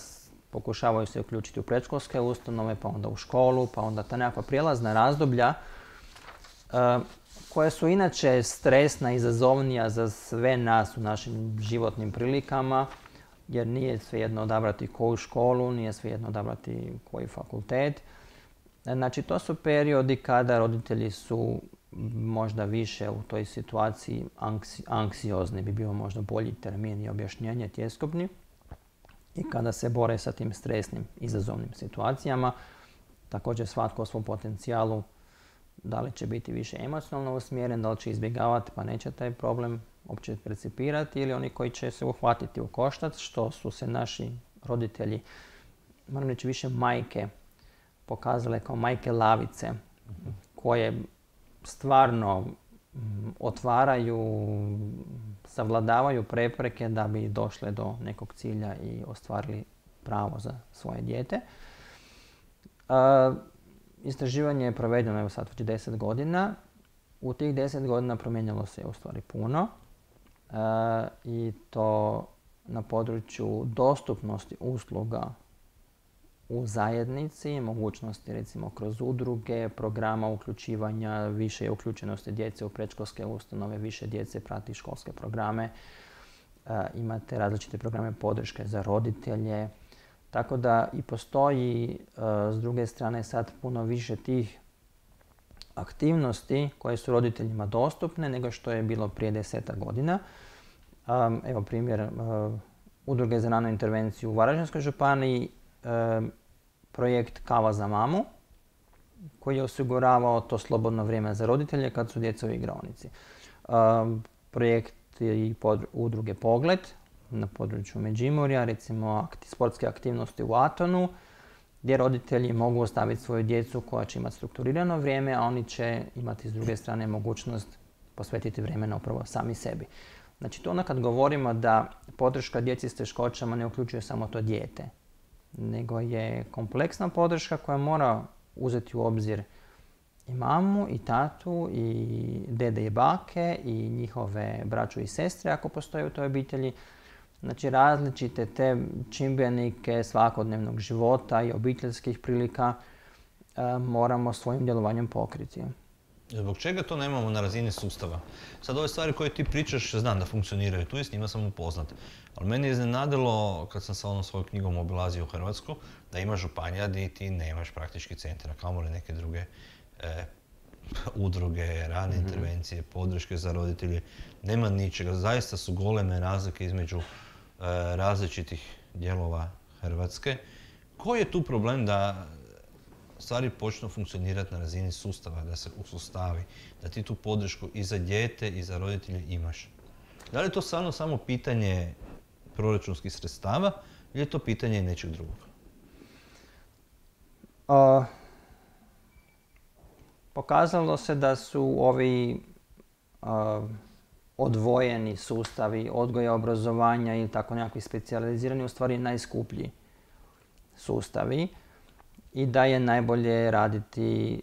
C: pokušavaju se uključiti u predškolske ustanove, pa onda u školu, pa onda ta nekakva prijelazna razdoblja uh, koja su inače stresna, izazovnija za sve nas u našim životnim prilikama, jer nije svejedno odabrati koju školu, nije svejedno odabrati koji fakultet. Znači, to su periodi kada roditelji su možda više u toj situaciji anksi, anksiozni, bi bio možda bolji termin i objašnjenje tjeskobni, i kada se bore sa tim stresnim, izazovnim situacijama. Također svatko o svom potencijalu, da li će biti više emocionalno usmjeren, da li će izbjegavati pa neće taj problem uopće percipirati, ili oni koji će se uhvatiti u koštac, što su se naši roditelji, moram reći više majke, pokazale kao majke lavice, koje stvarno otvaraju, savladavaju prepreke da bi došle do nekog cilja i ostvarili pravo za svoje dijete. Istraživanje je provedeno, evo sad već deset godina. U tih deset godina promijenilo se u stvari puno. E, I to na području dostupnosti usluga u zajednici, mogućnosti recimo kroz udruge, programa uključivanja, više uključenosti djece u predškolske ustanove, više djece prati školske programe. E, imate različite programe podrške za roditelje. Tako da i postoji e, s druge strane sad puno više tih aktivnosti koje su roditeljima dostupne nego što je bilo prije desetak godina. Um, evo primjer, uh, Udruge za ranu intervenciju u Varaždinskoj županiji, uh, projekt Kava za mamu, koji je osiguravao to slobodno vrijeme za roditelje kad su djeca u igraonici. Um, projekt i pod udruge Pogled na području Međimurja, recimo akti, sportske aktivnosti u Atonu, gdje roditelji mogu ostaviti svoju djecu koja će imati strukturirano vrijeme, a oni će imati s druge strane mogućnost posvetiti vremena upravo sami sebi. Znači to ono kad govorimo da podrška djeci s teškoćama ne uključuje samo to dijete, nego je kompleksna podrška koja mora uzeti u obzir i mamu, i tatu, i dede i bake, i njihove braću i sestre ako postoje u toj obitelji. Znači različite te čimbenike svakodnevnog života i obiteljskih prilika e, moramo svojim djelovanjem pokriti.
B: Zbog čega to nemamo na razini sustava? Sad ove stvari koje ti pričaš znam da funkcioniraju tu i s njima sam upoznat. Ali meni je iznenadilo kad sam sa onom svojom knjigom obilazio Hrvatsku da ima županija gdje ti nemaš praktički centra, kamoli neke druge e, udruge, rane mm-hmm. intervencije, podrške za roditelje. Nema ničega. Zaista su goleme razlike između e, različitih dijelova Hrvatske. Koji je tu problem da stvari počnu funkcionirati na razini sustava, da se usustavi, da ti tu podršku i za dijete i za roditelje imaš? Da li je to stvarno samo pitanje proračunskih sredstava ili je to pitanje nečeg drugog?
C: Uh, pokazalo se da su ovi uh, odvojeni sustavi odgoja, obrazovanja ili tako nekakvi specijalizirani u stvari najskuplji sustavi i da je najbolje raditi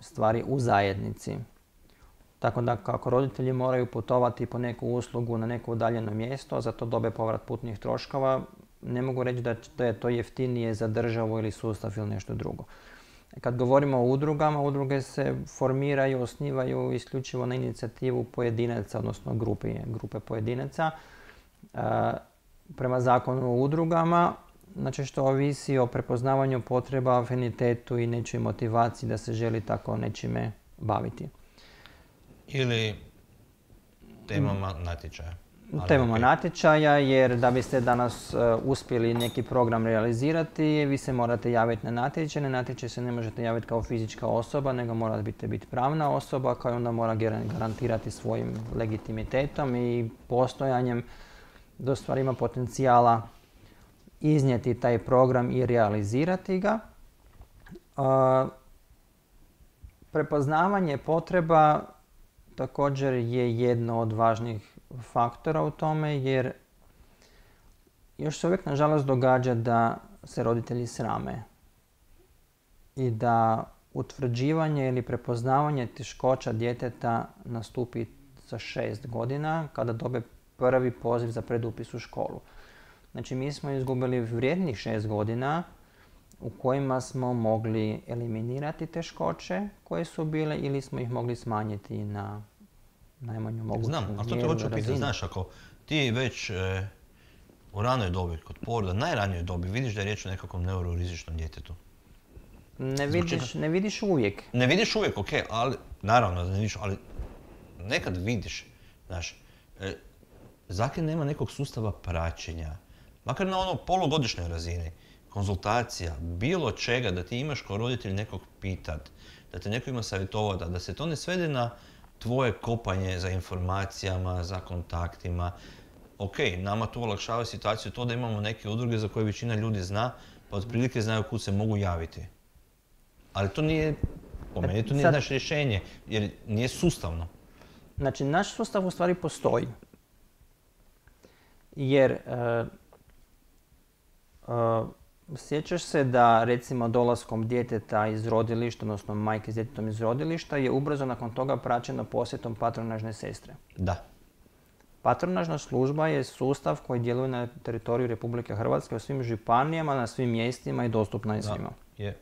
C: stvari u zajednici. Tako da kako roditelji moraju putovati po neku uslugu na neko udaljeno mjesto, a za to dobe povrat putnih troškova, ne mogu reći da je to jeftinije za državu ili sustav ili nešto drugo. Kad govorimo o udrugama, udruge se formiraju, osnivaju isključivo na inicijativu pojedinaca, odnosno grupe, grupe pojedinaca. E, prema zakonu o udrugama, znači što ovisi o prepoznavanju potreba, afinitetu i nečoj motivaciji da se želi tako nečime baviti.
B: Ili temama natječaja.
C: Temama okay. natječaja, jer da biste danas uh, uspjeli neki program realizirati, vi se morate javiti na natječaj. Na natječaj se ne možete javiti kao fizička osoba, nego morate biti pravna osoba koja onda mora garantirati svojim legitimitetom i postojanjem da stvari ima potencijala iznijeti taj program i realizirati ga. Uh, prepoznavanje potreba također je jedno od važnih faktora u tome, jer još se uvijek nažalost događa da se roditelji srame i da utvrđivanje ili prepoznavanje teškoća djeteta nastupi za šest godina kada dobe prvi poziv za predupis u školu. Znači mi smo izgubili vrijednih šest godina u kojima smo mogli eliminirati teškoće koje su bile ili smo ih mogli smanjiti na najmanju moguću mjeru.
B: Znam, ali to te hoću pitati, znaš, ako ti već e, u ranoj dobi, kod poroda, najranijoj dobi, vidiš da je riječ o nekakvom neurorizičnom djetetu.
C: Ne vidiš, ne vidiš uvijek.
B: Ne vidiš uvijek, ok, ali, naravno da ne vidiš, ali nekad vidiš, znaš, e, zakaj nema nekog sustava praćenja, makar na ono polugodišnjoj razini, konzultacija, bilo čega, da ti imaš kao roditelj nekog pitat, da te neko ima savjetovati, da se to ne svede na tvoje kopanje za informacijama, za kontaktima. Ok, nama to olakšava situaciju to da imamo neke udruge za koje većina ljudi zna, pa otprilike znaju kud se mogu javiti. Ali to nije, po meni, to nije naše rješenje, jer nije sustavno.
C: Znači, naš sustav u stvari postoji. Jer uh, uh, Sjećaš se da recimo dolaskom djeteta iz rodilišta, odnosno majke s djetetom iz rodilišta je ubrzo nakon toga praćeno posjetom patronažne sestre.
B: Da.
C: Patronažna služba je sustav koji djeluje na teritoriju Republike Hrvatske u svim županijama, na svim mjestima i dostupna je svima.
B: Da, je.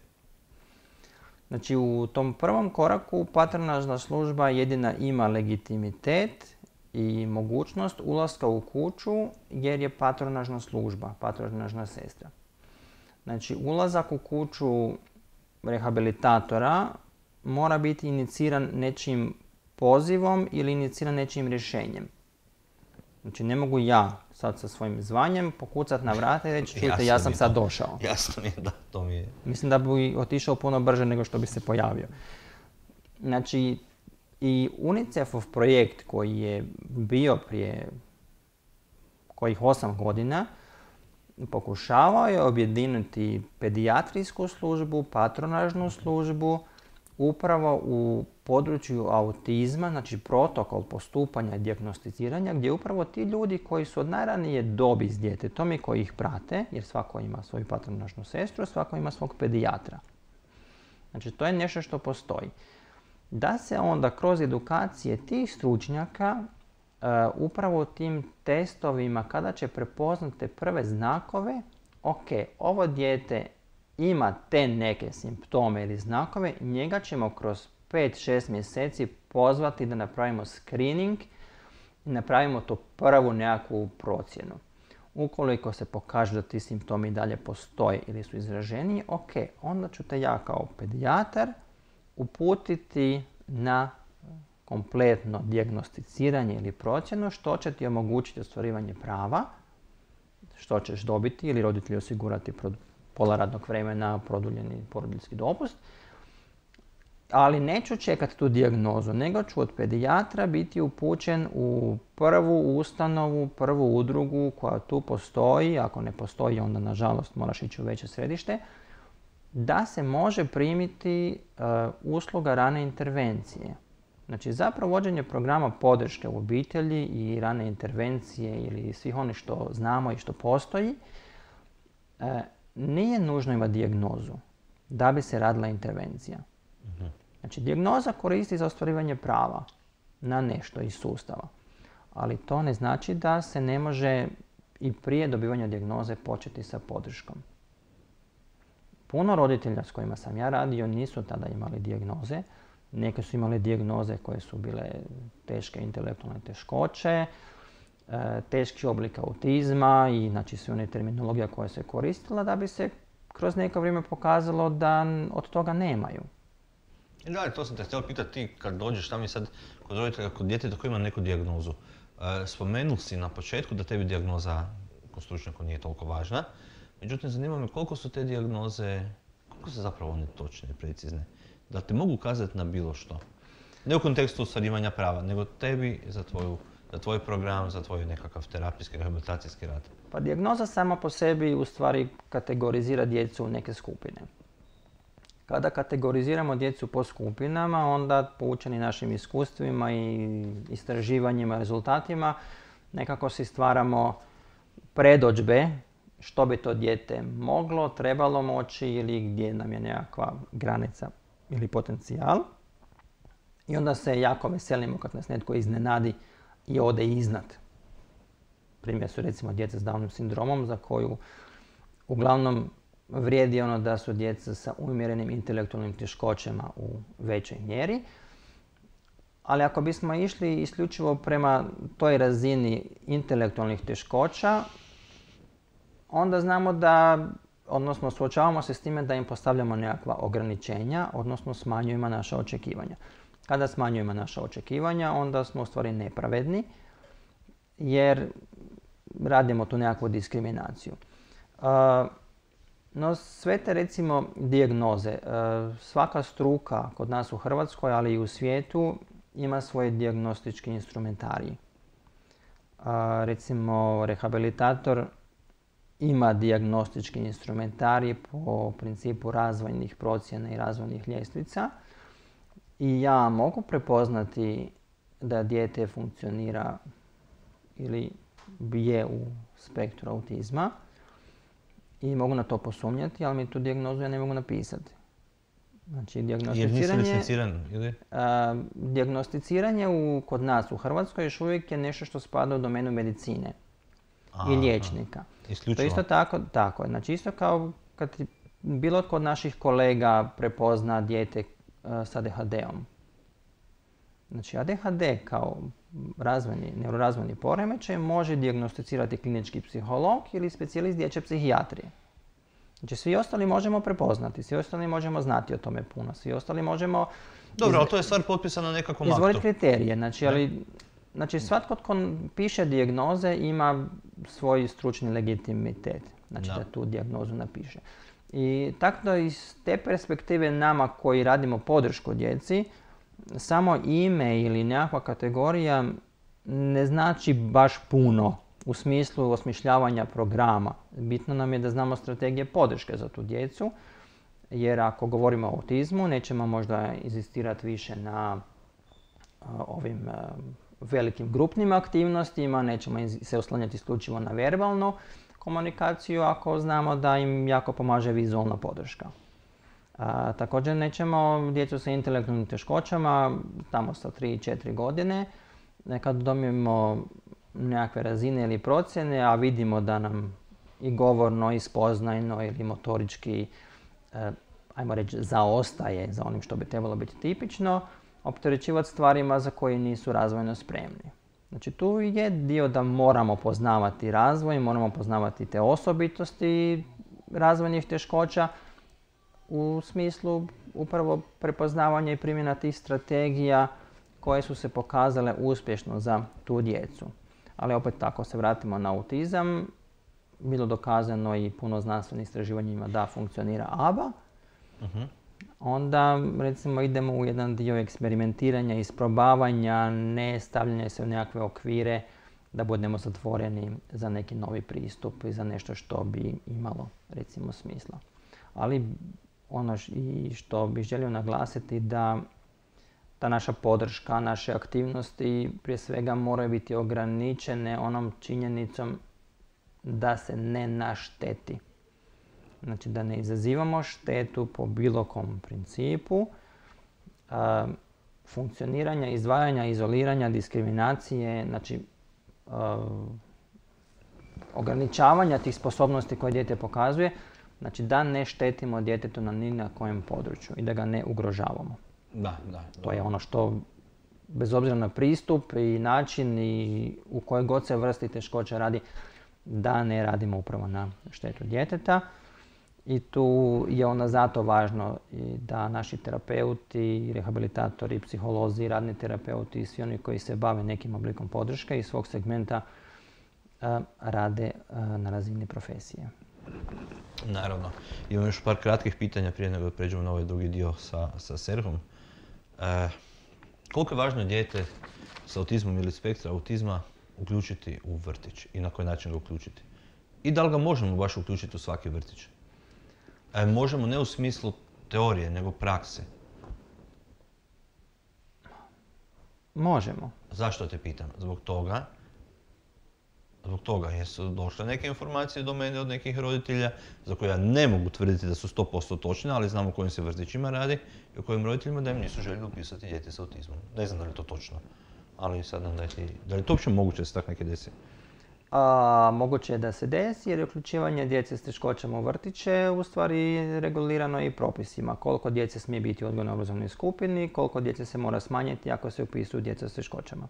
C: Znači u tom prvom koraku patronažna služba jedina ima legitimitet i mogućnost ulaska u kuću jer je patronažna služba, patronažna sestra. Znači ulazak u kuću rehabilitatora mora biti iniciran nečim pozivom ili iniciran nečim rješenjem. Znači ne mogu ja sad sa svojim zvanjem pokucati na vrata i reći čujte ja sam sad došao.
B: Jasno mi je da to mi je.
C: Mislim da bi otišao puno brže nego što bi se pojavio. Znači i UNICEF-ov projekt koji je bio prije kojih osam godina pokušavao je objediniti pedijatrijsku službu, patronažnu službu, upravo u području autizma, znači protokol postupanja i dijagnosticiranja, gdje upravo ti ljudi koji su od najranije dobi s djetetom i koji ih prate, jer svako ima svoju patronažnu sestru, svako ima svog pedijatra. Znači to je nešto što postoji. Da se onda kroz edukacije tih stručnjaka uh, upravo tim testovima kada će prepoznati te prve znakove, ok, ovo dijete ima te neke simptome ili znakove, njega ćemo kroz pet šest mjeseci pozvati da napravimo screening i napravimo tu prvu nekakvu procjenu. Ukoliko se pokaže da ti simptomi dalje postoje ili su izraženiji, ok, onda ću te ja kao pedijatar uputiti na kompletno dijagnosticiranje ili procjenu što će ti omogućiti ostvarivanje prava, što ćeš dobiti ili roditelji osigurati pola radnog vremena, produljeni porodiljski dopust. Ali neću čekati tu dijagnozu, nego ću od pedijatra biti upućen u prvu ustanovu, prvu udrugu koja tu postoji, ako ne postoji onda nažalost moraš ići u veće središte, da se može primiti uh, usluga rane intervencije. Znači za provođenje programa podrške u obitelji i rane intervencije ili svih onih što znamo i što postoji, uh, nije nužno imati dijagnozu da bi se radila intervencija. Mm-hmm. Znači, dijagnoza koristi za ostvarivanje prava na nešto iz sustava, ali to ne znači da se ne može i prije dobivanja dijagnoze početi sa podrškom. Puno roditelja s kojima sam ja radio nisu tada imali dijagnoze. Neke su imali dijagnoze koje su bile teške intelektualne teškoće, teški oblik autizma i znači sve one terminologija koja se koristila da bi se kroz neko vrijeme pokazalo da od toga nemaju.
B: Da, to sam te htio pitati ti kad dođeš tamo i sad kod roditelja, kod djeteta koji ima neku dijagnozu. E, spomenuli si na početku da tebi dijagnoza kod stručnjaka nije toliko važna. Međutim, zanima me koliko su te dijagnoze, koliko su zapravo one točne i precizne. Da te mogu ukazati na bilo što. Ne u kontekstu ostvarivanja prava, nego tebi za, tvoju, za tvoj program, za tvoj nekakav terapijski, rehabilitacijski rad.
C: Pa dijagnoza sama po sebi u stvari kategorizira djecu u neke skupine. Kada kategoriziramo djecu po skupinama, onda poučeni našim iskustvima i istraživanjima, rezultatima, nekako si stvaramo predodžbe što bi to dijete moglo, trebalo moći ili gdje nam je nekakva granica ili potencijal. I onda se jako veselimo kad nas netko iznenadi i ode iznad. Primjer su recimo djeca s Downovim sindromom za koju uglavnom vrijedi ono da su djeca sa umjerenim intelektualnim teškoćama u većoj mjeri. Ali ako bismo išli isključivo prema toj razini intelektualnih teškoća, onda znamo da, odnosno suočavamo se s time da im postavljamo nekakva ograničenja, odnosno smanjujemo naša očekivanja. Kada smanjujemo naša očekivanja, onda smo u stvari nepravedni, jer radimo tu nekakvu diskriminaciju. Uh, No sve te recimo dijagnoze, svaka struka kod nas u Hrvatskoj, ali i u svijetu ima svoje dijagnostički instrumentarij. Recimo rehabilitator ima dijagnostički instrumentarij po principu razvojnih procjena i razvojnih ljestvica i ja mogu prepoznati da dijete funkcionira ili je u spektru autizma. i mogu na to posumnjati, ali mi tu dijagnozu ja ne mogu napisati. Znači,
B: Jer nisi
C: dijagnosticiranje,
B: licenciran, ili?
C: a, dijagnosticiranje u, kod nas u Hrvatskoj još uvijek je nešto što spada u domenu medicine
B: Aha,
C: i liječnika.
B: Isključivo.
C: To isto tako, tako je. Znači, isto kao kad ti bilo tko od naših kolega prepozna dijete a, s A D H D-om. Znači, A D H D kao razvojni, neurorazvojni poremećaj može dijagnosticirati klinički psiholog ili specijalist dječje psihijatrije. Znači, svi ostali možemo prepoznati, svi ostali možemo znati o tome puno, svi ostali možemo...
B: Dobro, ali to je stvar potpisana na nekakvom aktu.
C: Izvoliti kriterije, znači, ali, znači svatko tko piše dijagnoze ima svoj stručni legitimitet, znači da, da tu dijagnozu napiše. I tako da iz te perspektive nama koji radimo podršku djeci, samo ime ili nekakva kategorija ne znači baš puno u smislu osmišljavanja programa. Bitno nam je da znamo strategije podrške za tu djecu, jer ako govorimo o autizmu, nećemo možda inzistirati više na uh, ovim uh, velikim grupnim aktivnostima, nećemo se oslanjati isključivo na verbalnu komunikaciju ako znamo da im jako pomaže vizualna podrška. Uh, također nećemo djecu sa intelektualnim teškoćama, tamo sa tri četiri godine, kad dobijemo nekakve razine ili procjene, a vidimo da nam i govorno, i spoznajno ili motorički, eh, ajmo reći, zaostaje za onim što bi trebalo biti tipično, opterećivati stvarima za koje nisu razvojno spremni. Znači, tu je dio da moramo poznavati razvoj, moramo poznavati te osobitosti razvojnih teškoća u smislu upravo prepoznavanja i primjena tih strategija koje su se pokazale uspješno za tu djecu. Ali opet ako se vratimo na autizam, bilo dokazano i puno znanstvenih istraživanjima da funkcionira A B A, uh-huh. onda recimo idemo u jedan dio eksperimentiranja, isprobavanja, ne stavljanja se u nekakve okvire da budemo zatvoreni za neki novi pristup i za nešto što bi imalo recimo smisla. Ali ono i što bih želio naglasiti da ta naša podrška, naše aktivnosti prije svega moraju biti ograničene onom činjenicom da se ne našteti. Znači da ne izazivamo štetu po bilo kom principu a, funkcioniranja, izdvajanja, izoliranja, diskriminacije, znači a, ograničavanja tih sposobnosti koje dijete pokazuje, znači da ne štetimo djetetu na ni na kojem području i da ga ne ugrožavamo.
B: Da, da.
C: To je ono što, bez obzira na pristup i način i u kojoj god se vrsti teškoća radi, da ne radimo upravo na štetu djeteta. I tu je onda zato važno da naši terapeuti, rehabilitatori, psiholozi, radni terapeuti i svi oni koji se bave nekim oblikom podrške iz svog segmenta rade na razini profesije.
B: Naravno. Imam još par kratkih pitanja prije nego da pređemo na ovaj drugi dio sa, sa Serhom. E, koliko je važno dijete sa autizmom ili spektra autizma uključiti u vrtić i na koji način ga uključiti? I da li ga možemo baš uključiti u svaki vrtić? E, možemo ne u smislu teorije, nego prakse.
C: Možemo.
B: Zašto te pitam? Zbog toga Zbog toga jer su došle neke informacije do mene od nekih roditelja za koje ja ne mogu tvrditi da su sto posto točne, ali znam o kojim se vrtićima radi i o kojim roditeljima da im nisu željeli upisati dijete sa autizmom. Ne znam da li je to točno, ali sad nam dajte, da li je to uopće moguće da se tako neke desi?
C: A, moguće je da se desi jer je uključivanje djece s teškoćama u vrtiće u stvari regulirano i propisima. Koliko djece smije biti u odgojno-obrazovnoj skupini, koliko djece se mora smanjiti ako se upisuju djeca s teškoćama.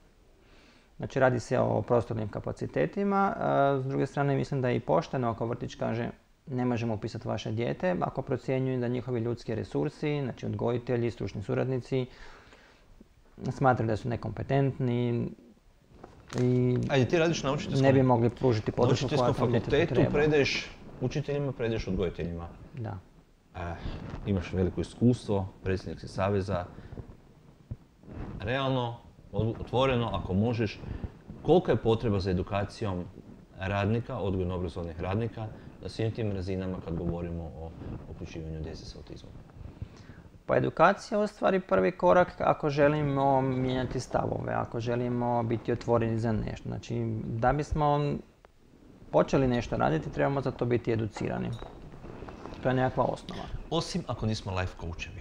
C: Znači radi se o prostornim kapacitetima, s druge strane mislim da je i pošteno ako vrtić kaže ne možemo upisati vaše dijete ako procjenjuju da njihovi ljudski resursi, znači odgojitelji, stručni suradnici, smatraju da su nekompetentni i
B: Ajde, ti radiš na učiteljskom,
C: ne bi mogli pružiti podršku koja tom djetetu treba.
B: fakultetu, predaješ učiteljima, predaješ odgojiteljima.
C: Da.
B: E, imaš veliko iskustvo, predsjednik si saveza. Realno, otvoreno, ako možeš, kolika je potreba za edukacijom radnika, odgojno-obrazovnih radnika, na svim tim razinama kad govorimo o uključivanju djece s autizmom?
C: Pa edukacija je u stvari prvi korak ako želimo mijenjati stavove, ako želimo biti otvoreni za nešto. Znači, da bismo počeli nešto raditi, trebamo za to biti educirani. To je nekakva osnova.
B: Osim ako nismo life coachevi.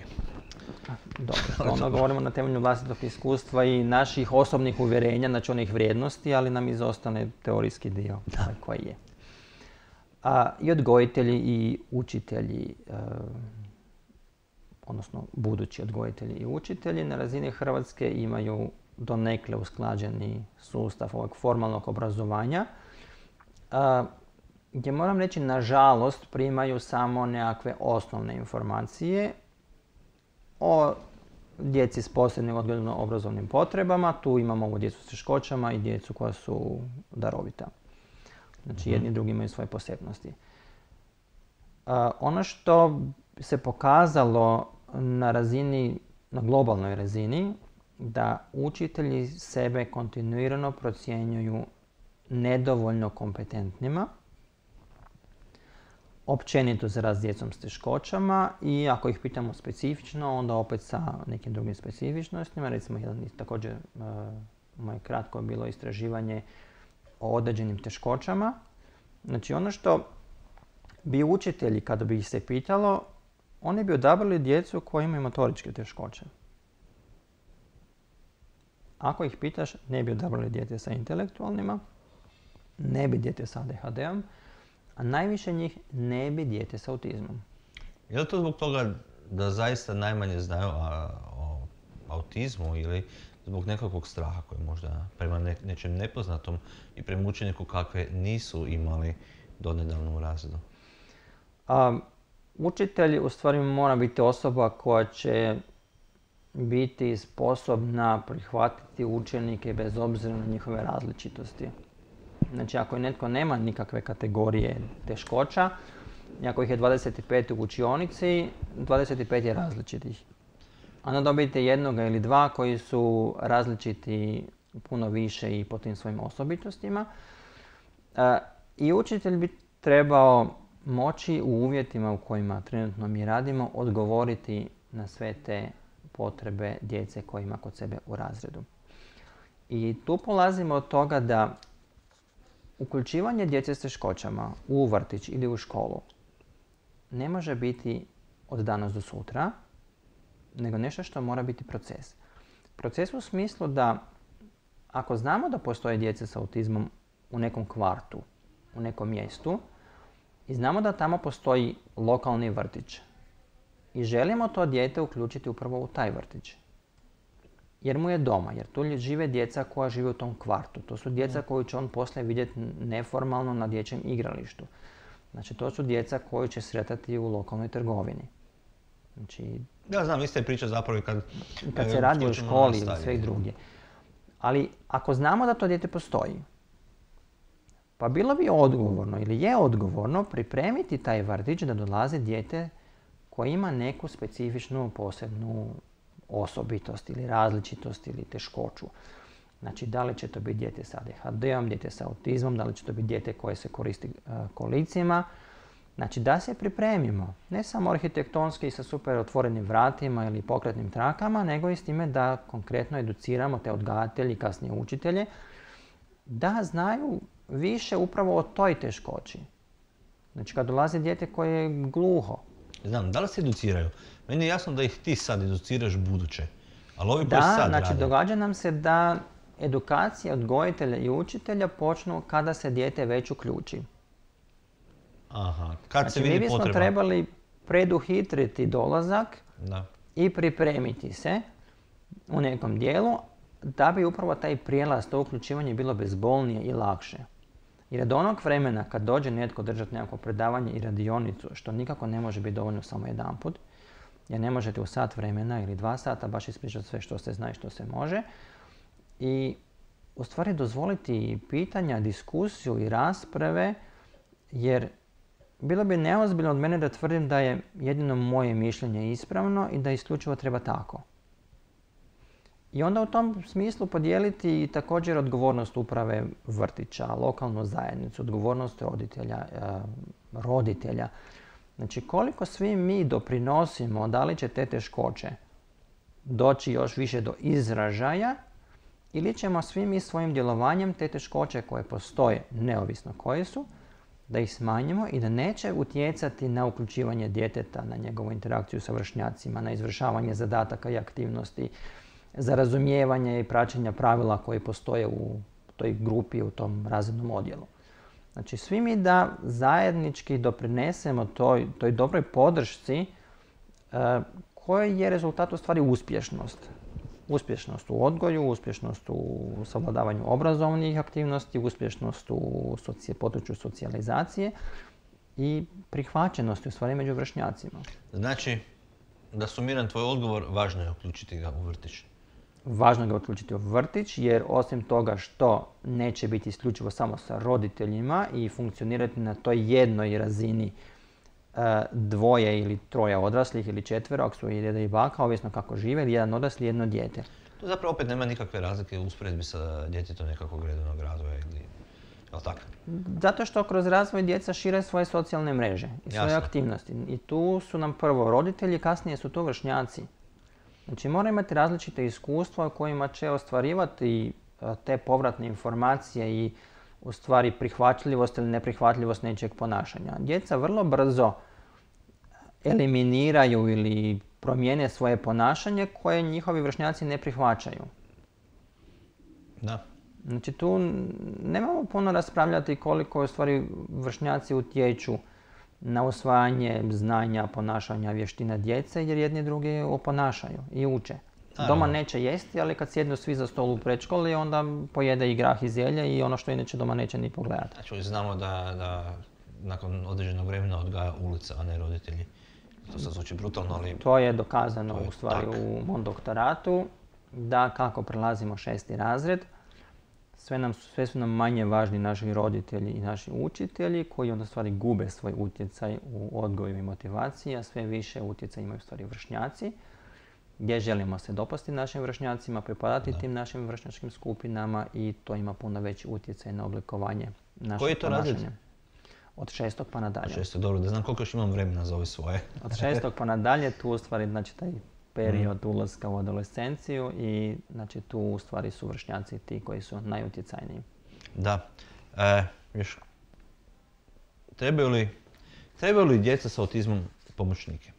C: Dobro, to ono govorimo na temelju vlastitog iskustva i naših osobnih uvjerenja, znači onih vrijednosti, ali nam izostane teorijski dio koji je. A, I odgojitelji i učitelji, e, odnosno budući odgojitelji i učitelji na razini Hrvatske imaju donekle usklađeni sustav ovog formalnog obrazovanja, a, gdje moram reći, nažalost, primaju samo nekakve osnovne informacije o djeci s posebnim odgojno-obrazovnim potrebama. Tu imamo ovu djecu s teškoćama i djecu koja su darovita. Znači, jedni i drugi imaju svoje posebnosti. A, ono što se pokazalo na razini, na globalnoj razini, da učitelji sebe kontinuirano procjenjuju nedovoljno kompetentnima, općenito za rad s djecom s teškoćama, i ako ih pitamo specifično, onda opet sa nekim drugim specifičnostima. Recimo, jedan također uh, moje kratko bilo istraživanje o određenim teškoćama. Znači, ono što bi učitelji, kada bi ih se pitalo, oni bi odabrali djecu koji imaju motoričke teškoće. Ako ih pitaš, ne bi odabrali dijete sa intelektualnima, ne bi dijete sa A D H D-om, a najviše njih ne bi dijete s autizmom.
B: Je li to zbog toga da zaista najmanje znaju a, o autizmu ili zbog nekakvog straha koji možda prema ne, nečem nepoznatom i prema učeniku kakve nisu imali donedavno u razredu?
C: A, učitelj u stvari mora biti osoba koja će biti sposobna prihvatiti učenike bez obzira na njihove različitosti. Znači, ako je netko nema nikakve kategorije teškoća, i ako ih je dvadeset pet u učionici, dvadeset pet je različitih. Onda dobijete jednoga ili dva koji su različiti puno više i po tim svojim osobitostima. E, I učitelj bi trebao moći u uvjetima u kojima trenutno mi radimo odgovoriti na sve te potrebe djece koje ima kod sebe u razredu. I tu polazimo od toga da uključivanje djece s teškoćama u vrtić ili u školu ne može biti od danas do sutra, nego nešto što mora biti proces. Proces u smislu da ako znamo da postoje djece s autizmom u nekom kvartu, u nekom mjestu, i znamo da tamo postoji lokalni vrtić i želimo to dijete uključiti upravo u taj vrtić, jer mu je doma, jer tu žive djeca koja žive u tom kvartu. To su djeca koju će on poslije vidjeti neformalno na dječjem igralištu. Znači, to su djeca koju će sretati u lokalnoj trgovini. Znači,
B: ja znam, ista je priča zapravo kad...
C: Kad se radi o školi ili sve drugdje. Ali ako znamo da to dijete postoji, pa bilo bi odgovorno ili je odgovorno pripremiti taj vrtić da dolazi dijete koje ima neku specifičnu posebnu osobitost ili različitost ili teškoću. Znači, da li će to biti dijete sa A D H D-om, dijete sa autizmom, da li će to biti dijete koje se koristi uh, kolicima. Znači, da se pripremimo, ne samo arhitektonski sa super otvorenim vratima ili pokretnim trakama, nego i s time da konkretno educiramo te odgajatelji i kasnije učitelje da znaju više upravo o toj teškoći. Znači, kad dolazi dijete koje je gluho.
B: Znam, da li se educiraju? Meni je jasno da ih ti sad educiraš buduće, ali ovi
C: da,
B: koji sad
C: znači,
B: rade...
C: događa nam se da edukacija odgojitelja i učitelja počnu kada se dijete već uključi.
B: Aha, kad
C: znači,
B: se vidi potreba.
C: Mi bismo trebali preduhitriti dolazak
B: da.
C: i pripremiti se u nekom dijelu da bi upravo taj prijelaz, to uključivanje bilo bezbolnije i lakše. Jer od onog vremena kad dođe netko držati nekako predavanje i radionicu, što nikako ne može biti dovoljno samo jedanput, jer ne možete u sat vremena ili dva sata baš ispričati sve što se zna i što se može, i u stvari dozvoliti pitanja, diskusiju i rasprave, jer bilo bi neozbiljno od mene da tvrdim da je jedino moje mišljenje ispravno i da isključivo treba tako. I onda u tom smislu podijeliti također odgovornost uprave vrtića, lokalnu zajednicu, odgovornost roditelja, roditelja. Znači, koliko svi mi doprinosimo, da li će te teškoće doći još više do izražaja, ili ćemo svi mi svojim djelovanjem te teškoće koje postoje, neovisno koje su, da ih smanjimo i da neće utjecati na uključivanje djeteta, na njegovu interakciju sa vršnjacima, na izvršavanje zadataka i aktivnosti, za razumijevanje i praćenje pravila koje postoje u toj grupi, u tom razrednom odjelu. Znači, svi mi da zajednički doprinesemo toj, toj dobroj podršci e, koji je rezultat u stvari uspješnost. Uspješnost u odgoju, uspješnost u savladavanju obrazovnih aktivnosti, uspješnost u soci, području socijalizacije i prihvaćenosti u stvari među vršnjacima.
B: Znači, da sumiram tvoj odgovor, važno je uključiti ga u vrtić.
C: Važno je ga uključiti u vrtić jer osim toga što neće biti isključivo samo sa roditeljima i funkcionirati na toj jednoj razini dvoje ili troje odraslih ili četvero, ako su i deda i baka, ovisno kako žive, ili jedan odrasli i jedno dijete.
B: To zapravo opet nema nikakve razlike u usporedbi sa djetetom nekakvog redovnog razvoja ili... Jel' tako?
C: Zato što kroz razvoj djeca šire svoje socijalne mreže i svoje
B: Jasno.
C: aktivnosti. I tu su nam prvo roditelji, kasnije su to vršnjaci. Znači mora imati različite iskustva u kojima će ostvarivati te povratne informacije i u stvari prihvatljivost ili neprihvatljivost nečijeg ponašanja. Djeca vrlo brzo eliminiraju ili promijene svoje ponašanje koje njihovi vršnjaci ne prihvaćaju.
B: Da.
C: Znači tu nemamo puno raspravljati koliko u stvari vršnjaci utječu na usvajanje znanja, ponašanja, vještina djece jer jedni drugi oponašaju i uče.
B: Naravno.
C: Doma neće jesti, ali kad sjednu svi za stol u predškoli, onda pojede i grah i zelje i ono što inače doma neće ni pogledati.
B: Znači, znamo da, da nakon određenog vremena odgaja ulica, a ne roditelji. To sad zvuči brutalno, ali...
C: To je dokazano
B: to je
C: u stvari
B: tak.
C: u mom doktoratu, da kako prelazimo šesti razred, sve, nam, sve su nam manje važni naši roditelji i naši učitelji koji onda stvari gube svoj utjecaj u odgoju i motivaciji, a sve više utjecaj imaju stvari vršnjaci, gdje želimo se dopasti našim vršnjacima, pripadati da. tim našim vršnjačkim skupinama i to ima puno veći utjecaj na oblikovanje našeg
B: Koji je to
C: ponašanja.
B: razred?
C: Od šestog pa nadalje.
B: Od šestog, dobro, da znam koliko još imam vremena za ove svoje.
C: Od šestog pa nadalje, tu u stvari znači taj period mm. ulaska u adolescenciju i znači tu u stvari su vršnjaci ti koji su najutjecajniji.
B: Da. E, još, trebaju li, trebaju li djeca sa autizmom pomoćnike?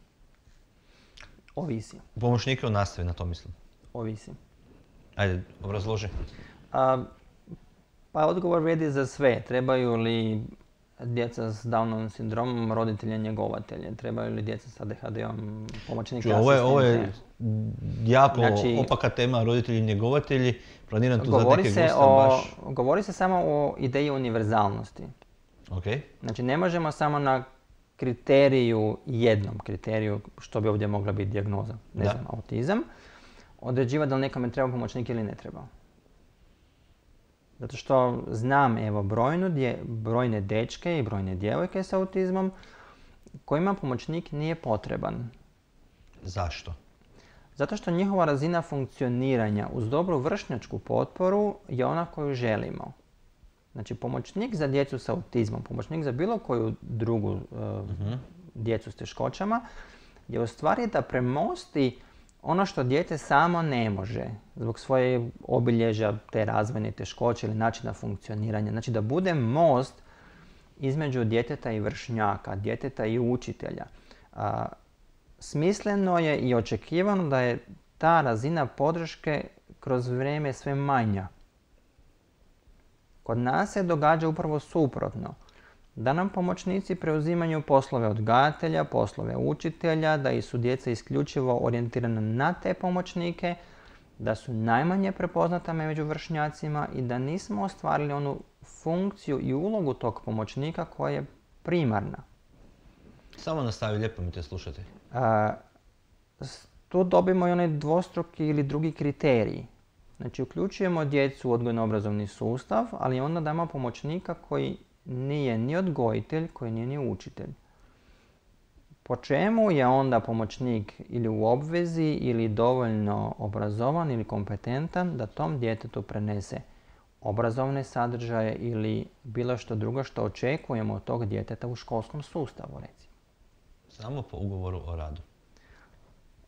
C: Ovisi.
B: Pomoćnike u nastavi, na to mislim.
C: Ovisi.
B: Ajde, obrazloži.
C: A, pa odgovor vrijedi za sve. Trebaju li djeca s Downovim sindromom roditelje njegovatelje? Trebaju li djeca s A D H D-om pomoćnike asistente?
B: Ovo je, ovo je jako
C: znači,
B: opaka tema, roditelji njegovatelji. Planiram tu za
C: govori
B: neke
C: se
B: gosta
C: o,
B: baš...
C: Govori se samo o ideji univerzalnosti.
B: Okay.
C: Znači ne možemo samo na kriteriju, jednom kriteriju, što bi ovdje mogla biti dijagnoza, ne
B: da.
C: znam, autizam, određivati da li nekome treba pomoćnik ili ne treba. Zato što znam, evo, brojnu dje, brojne dečke i brojne djevojke s autizmom kojima pomoćnik nije potreban.
B: Zašto?
C: Zato što njihova razina funkcioniranja uz dobru vršnjačku potporu je ona koju želimo. Znači, pomoćnik za djecu s autizmom, pomoćnik za bilo koju drugu uh, uh-huh. djecu s teškoćama je u stvari da premosti ono što dijete samo ne može zbog svoje obilježja te razvojne teškoće ili načina funkcioniranja. Znači da bude most između djeteta i vršnjaka, djeteta i učitelja. A, smisleno je i očekivano da je ta razina podrške kroz vrijeme sve manja. Kod nas se događa upravo suprotno. Da nam pomoćnici preuzimaju poslove odgajatelja, poslove učitelja, da su djeca isključivo orijentirana na te pomoćnike, da su najmanje prepoznata među vršnjacima i da nismo ostvarili onu funkciju i ulogu tog pomoćnika koja je primarna.
B: Samo nastavi, lijepo mi te slušati.
C: A, tu dobimo i onaj dvostruki ili drugi kriterij. Znači, uključujemo djecu u odgojno-obrazovni sustav, ali onda damo pomoćnika koji nije ni odgojitelj, koji nije ni učitelj. Po čemu je onda pomoćnik ili u obvezi ili dovoljno obrazovan ili kompetentan da tom djetetu prenese obrazovne sadržaje ili bilo što drugo što očekujemo od tog djeteta u školskom sustavu, recimo.
B: Samo po ugovoru o radu.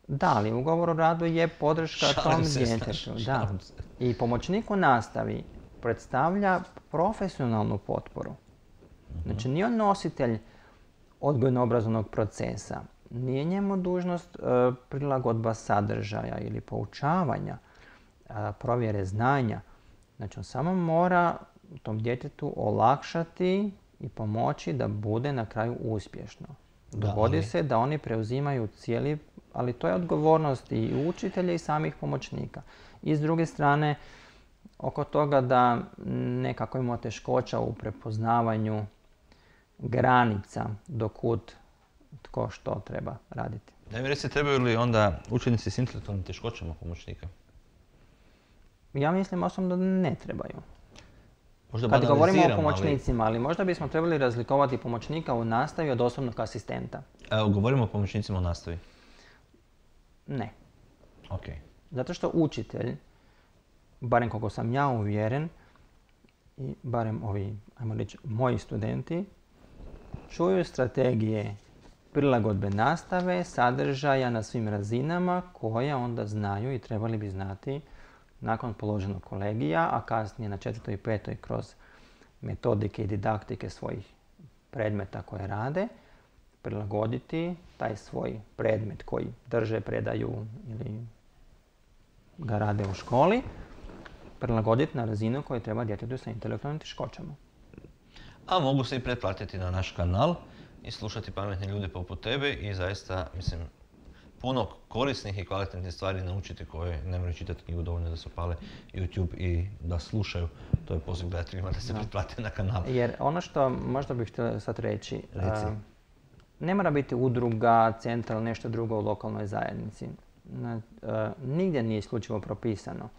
C: Da, ali ugovor o radu je podrška
B: šalim
C: tom
B: se,
C: djetetu. Da.
B: Se.
C: I pomoćnik u nastavi predstavlja profesionalnu potporu. Znači, nije on nositelj odgojno-obrazovnog procesa. Nije njemu dužnost uh, prilagodba sadržaja ili poučavanja, uh, provjere znanja. Znači, on samo mora tom djetetu olakšati i pomoći da bude na kraju uspješno. Dogodi
B: ali...
C: se da oni preuzimaju cijeli, ali to je odgovornost i učitelja i samih pomoćnika. I s druge strane, oko toga da nekako imamo teškoća u prepoznavanju granica do kud tko što treba raditi.
B: Da mi reci, trebaju li onda učenici s intelektualnim teškoćama pomoćnika?
C: Ja mislim osobno da ne trebaju.
B: Možda
C: Kad govorimo o
B: ali...
C: pomoćnicima, ali možda bismo trebali razlikovati pomoćnika u nastavi od osobnog asistenta.
B: Evo, govorimo o pomoćnicima u nastavi.
C: Ne.
B: Ok.
C: Zato što učitelj, barem koliko sam ja uvjeren, i barem ovi, ajmo reći, moji studenti, čuju strategije prilagodbe nastave, sadržaja na svim razinama koje onda znaju i trebali bi znati nakon položenog kolegija, a kasnije na četvrtoj i petoj kroz metodike i didaktike svojih predmeta koje rade, prilagoditi taj svoj predmet koji drže, predaju ili ga rade u školi, prilagoditi na razinu koju treba djetetu sa intelektualnim teškoćama.
B: A mogu se i pretplatiti na naš kanal i slušati pametne ljude poput tebe i zaista, mislim, puno korisnih i kvalitetnih stvari naučiti koje ne moraju čitati knjigu, dovoljno da se upale YouTube i da slušaju. To je poziv gledateljima da se pretplate na kanal.
C: Jer ono što možda bih htio sad reći,
B: Reci.
C: Uh, ne mora biti udruga, centar ili nešto drugo u lokalnoj zajednici. Uh, nigdje nije isključivo propisano.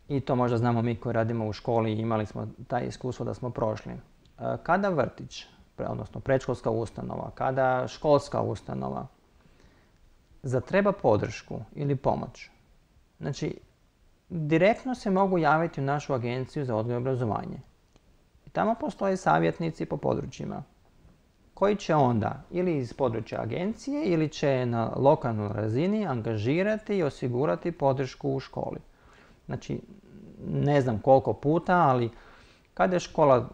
C: I to možda znamo mi koji radimo u školi i imali smo taj iskustvo da smo prošli. Uh, kada vrtić, odnosno predškolska ustanova, kada školska ustanova zatreba podršku ili pomoć, znači direktno se mogu javiti u našu agenciju za odgoj i obrazovanje. I tamo postoje savjetnici po područjima koji će onda ili iz područja agencije ili će na lokalnoj razini angažirati i osigurati podršku u školi. Znači, ne znam koliko puta, ali kada je škola,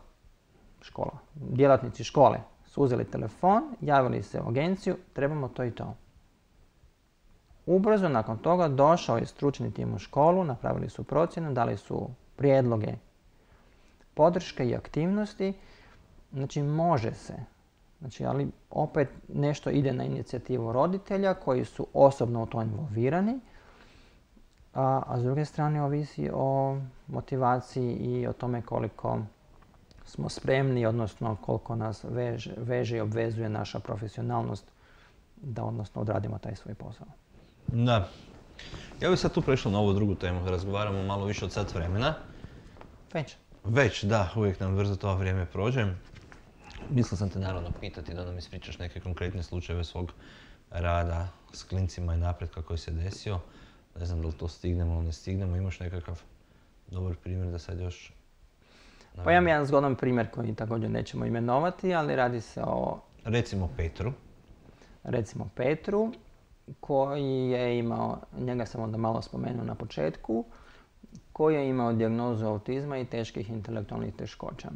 C: škola, djelatnici škole su uzeli telefon, javili se u agenciju, trebamo to i to. Ubrzo nakon toga došao je stručni tim u školu, napravili su procjenu, dali su prijedloge, podrške i aktivnosti. Znači, može se. Znači, ali opet nešto ide na inicijativu roditelja koji su osobno u to involvirani, a, a s druge strane ovisi o motivaciji i o tome koliko smo spremni, odnosno koliko nas veže, veže i obvezuje naša profesionalnost da odnosno odradimo taj svoj posao.
B: Da. Ja bih sad tu prešao na ovu drugu temu, da razgovaramo malo više od sat vremena.
C: Već?
B: Već, da, uvijek nam brzo to vrijeme prođe. Mislio sam te naravno pitati da nam ispričaš neke konkretne slučajeve svog rada s klincima i napretka koji se desio. Ne znam da li to stignemo ili ne stignemo, imaš nekakav dobar primjer da sad još...
C: Pa imam jedan zgodan primjer koji također nećemo imenovati, ali radi se o...
B: Recimo Petru.
C: Recimo Petru, koji je imao, njega sam onda malo spomenuo na početku, koji je imao dijagnozu autizma i teških intelektualnih teškoća,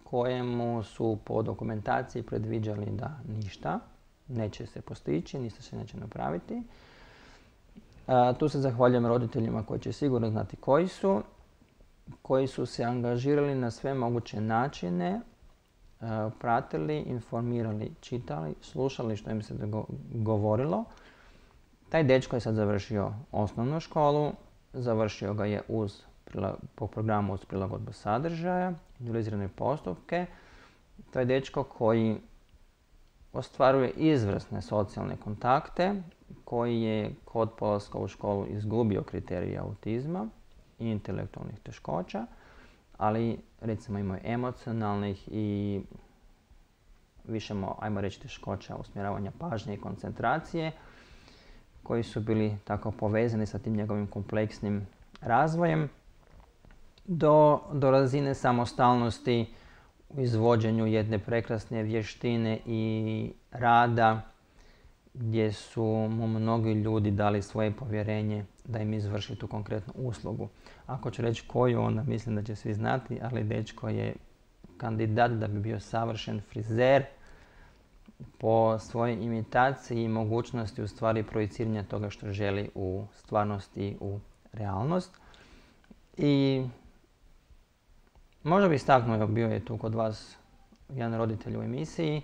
C: kojemu su po dokumentaciji predviđali da ništa neće se postići, ništa se neće napraviti. A, tu se zahvaljujem roditeljima koji će sigurno znati koji su, koji su se angažirali na sve moguće načine, a, pratili, informirali, čitali, slušali što im se govorilo. Taj dečko je sad završio osnovnu školu, završio ga je uz, po programu uz prilagodbu sadržaja, individualizirane postupke. To je dečko koji ostvaruje izvrsne socijalne kontakte, koji je kod polaska u školu izgubio kriterije autizma i intelektualnih teškoća, ali recimo imao emocionalnih i više, ajmo reći, teškoća usmjeravanja pažnje i koncentracije, koji su bili tako povezani sa tim njegovim kompleksnim razvojem do, do razine samostalnosti u izvođenju jedne prekrasne vještine i rada gdje su mu mnogi ljudi dali svoje povjerenje da im izvrši tu konkretnu uslugu. Ako ću reći koju, onda mislim da će svi znati, ali dečko je kandidat da bi bio savršen frizer po svojoj imitaciji i mogućnosti u stvari projiciranja toga što želi u stvarnosti, u realnost. I možda bi istaknuo, bio je tu kod vas jedan roditelj u emisiji.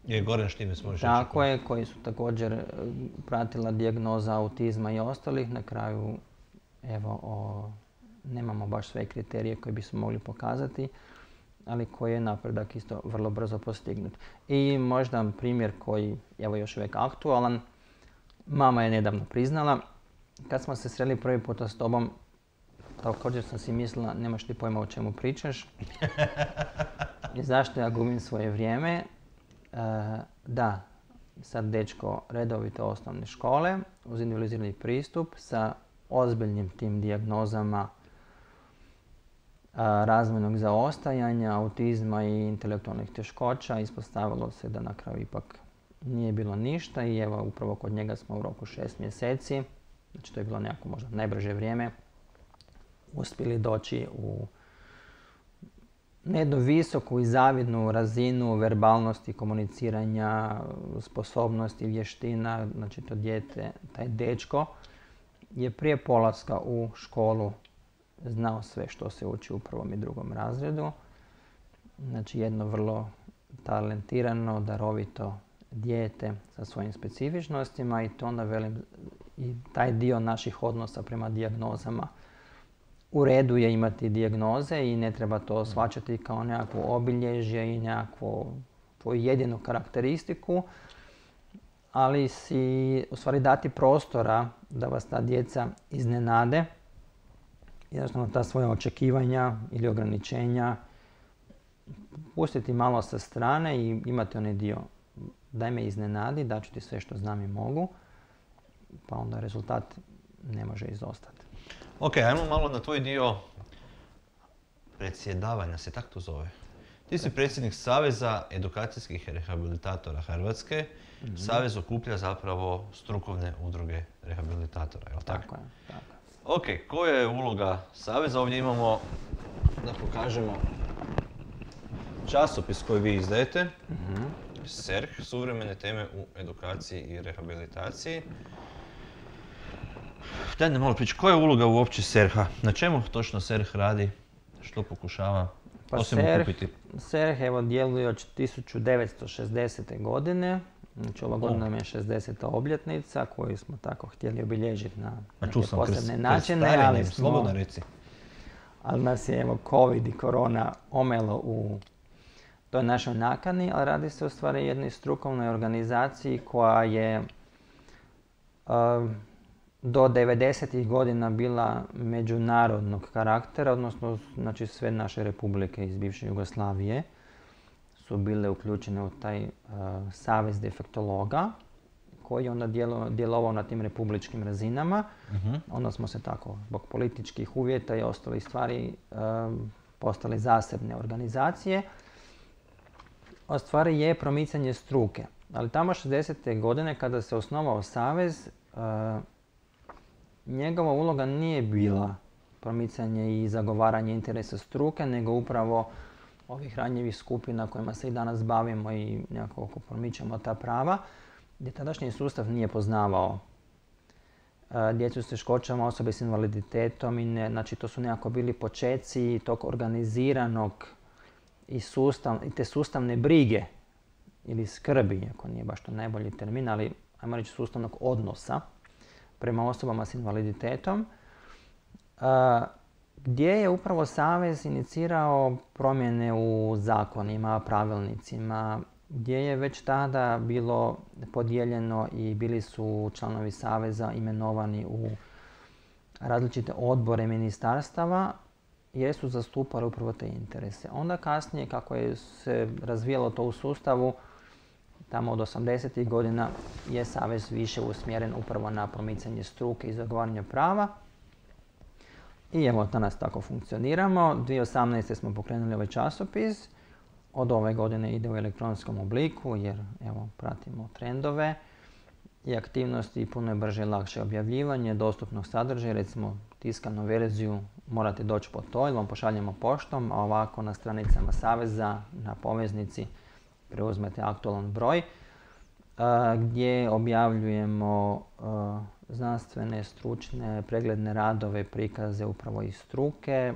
B: Je Goran Štimec, možeš reći.
C: Tako je, koji su također pratila dijagnoza autizma i ostalih. Na kraju, evo, o, nemamo baš sve kriterije koje bismo mogli pokazati, ali koji je napredak isto vrlo brzo postignut. I možda primjer koji, evo, još uvijek aktualan. Mama je nedavno priznala, kad smo se sreli prvi puta s tobom, također sam si mislila, nemaš ti pojma o čemu pričaš. I zašto ja gubim svoje vrijeme? E, da, sad dečko redovite osnovne škole, uz individualizirani pristup, sa ozbiljnim tim dijagnozama razvojnog zaostajanja, autizma i intelektualnih teškoća. Ispostavilo se da na kraju ipak nije bilo ništa i evo upravo kod njega smo u roku šest mjeseci, znači to je bilo nekako možda najbrže vrijeme, uspjeli doći u jednu visoku i zavidnu razinu verbalnosti, komuniciranja, sposobnosti, vještina. Znači to dijete, taj dečko je prije polaska u školu znao sve što se uči u prvom i drugom razredu. Znači jedno vrlo talentirano, darovito dijete sa svojim specifičnostima i to onda velim i taj dio naših odnosa prema dijagnozama. U redu je imati dijagnoze i ne treba to shvaćati kao nekakvo obilježje i nekakvu tvoju jedinu karakteristiku, ali si u stvari dati prostora da vas ta djeca iznenade. Jednostavno ta svoja očekivanja ili ograničenja pustiti malo sa strane i imati onaj dio daj me iznenadi, daću ti sve što znam i mogu, pa onda rezultat ne može izostati.
B: Ok, ajmo malo na tvoj dio predsjedavanja, se tako to zove. Ti si predsjednik Saveza edukacijskih rehabilitatora Hrvatske. Mm-hmm. Savez okuplja zapravo strukovne udruge rehabilitatora, je li tako?
C: Tako je, tako je.
B: Ok, koja je uloga Saveza? Ovdje imamo, da pokažemo, časopis koji vi izdajete. Mm-hmm. S E R H, suvremene teme u edukaciji i rehabilitaciji. Daj ne malo prići, koja je uloga uopće S E R H-a? Na čemu točno S E R H radi? Što pokušava
C: pa
B: osim okupiti?
C: S E R H evo djeluje od tisuću devetsto šezdesete. godine. Znači ova godina nam je šezdeseta obljetnica koju smo tako htjeli obilježiti na neke posebne načine, ali smo,
B: slobodno reci.
C: Ali nas je evo COVID i korona omelo u toj našoj nakani, ali radi se u stvari jednoj strukovnoj organizaciji koja je uh, do devedesetih godina bila međunarodnog karaktera, odnosno znači sve naše republike iz bivše Jugoslavije su bile uključene u taj uh, savez defektologa koji je onda djelo, djelovao na tim republičkim razinama. Uh-huh. Onda smo se tako zbog političkih uvjeta i ostalih stvari uh, postali zasebne organizacije. A stvari je promicanje struke. Ali tamo šezdesete. godine kada se osnovao savez, uh, njegova uloga nije bila promicanje i zagovaranje interesa struke, nego upravo ovih ranjivih skupina kojima se i danas bavimo i nekako promičemo ta prava, gdje tadašnji sustav nije poznavao uh, djecu s teškoćama, osobe s invaliditetom i ne, znači to su nekako bili počeci tog organiziranog i, sustav, i te sustavne brige ili skrbi, iako nije baš to najbolji termin, ali ajmo reći sustavnog odnosa prema osobama s invaliditetom, uh, gdje je upravo Savez inicirao promjene u zakonima, pravilnicima, gdje je već tada bilo podijeljeno i bili su članovi Saveza imenovani u različite odbore ministarstava jer su zastupali upravo te interese. Onda kasnije, kako je se razvijalo to u sustavu, tamo od osamdesetih godina je Savez više usmjeren upravo na promicanje struke i zagovaranje prava. I evo, danas tako funkcioniramo. dvije tisuće osamnaeste. smo pokrenuli ovaj časopis. Od ove godine ide u elektronskom obliku jer evo, pratimo trendove i aktivnosti, puno je brže i lakše objavljivanje dostupnog sadržaja. Recimo, tiskanu verziju morate doći po to ili vam pošaljemo poštom, a ovako na stranicama Saveza, na poveznici preuzmete aktualan broj gdje objavljujemo znanstvene, stručne, pregledne radove, prikaze upravo iz struke,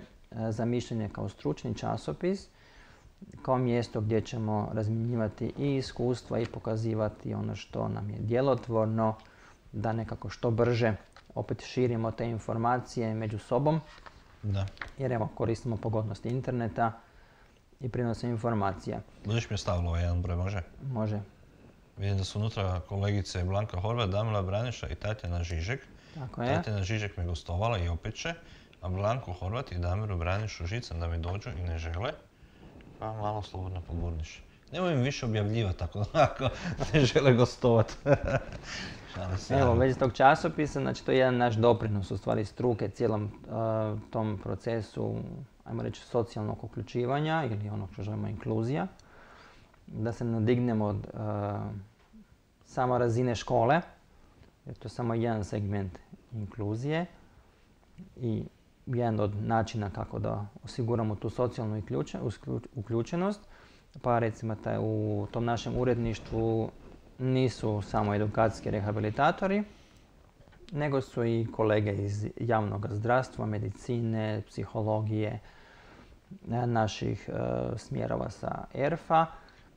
C: za mišljenje kao stručni časopis, kao mjesto gdje ćemo razmjenjivati i iskustva i pokazivati ono što nam je djelotvorno, da nekako što brže opet širimo te informacije među sobom.
B: Da.
C: Jer evo, koristimo pogodnosti interneta i prinosimo informacija.
B: Budeš mi stavila ovaj jedan broj, može?
C: Može.
B: Vidim da su unutra kolegice Blanka Horvat, Damila Braniša i Tatjana Žižek.
C: Tako je.
B: Tatjana Žižek me gostovala i opet će, a Blanku Horvat i Damiru Branišu žicam da mi dođu i ne žele, pa malo slobodno pogurniš. Nemoj im više objavljivati ako ne žele gostovati.
C: Evo, već iz tog časopisa, znači to je jedan naš doprinos u stvari struke cijelom uh, tom procesu, ajmo reći, socijalnog uključivanja ili ono što zovemo inkluzija. Da se nadignemo od uh, samo razine škole, jer to je samo jedan segment inkluzije i jedan od načina kako da osiguramo tu socijalnu uključenost. Pa recimo taj, u tom našem uredništvu nisu samo edukacijski rehabilitatori, nego su i kolege iz javnog zdravstva, medicine, psihologije, naših uh, smjerova sa E R F A.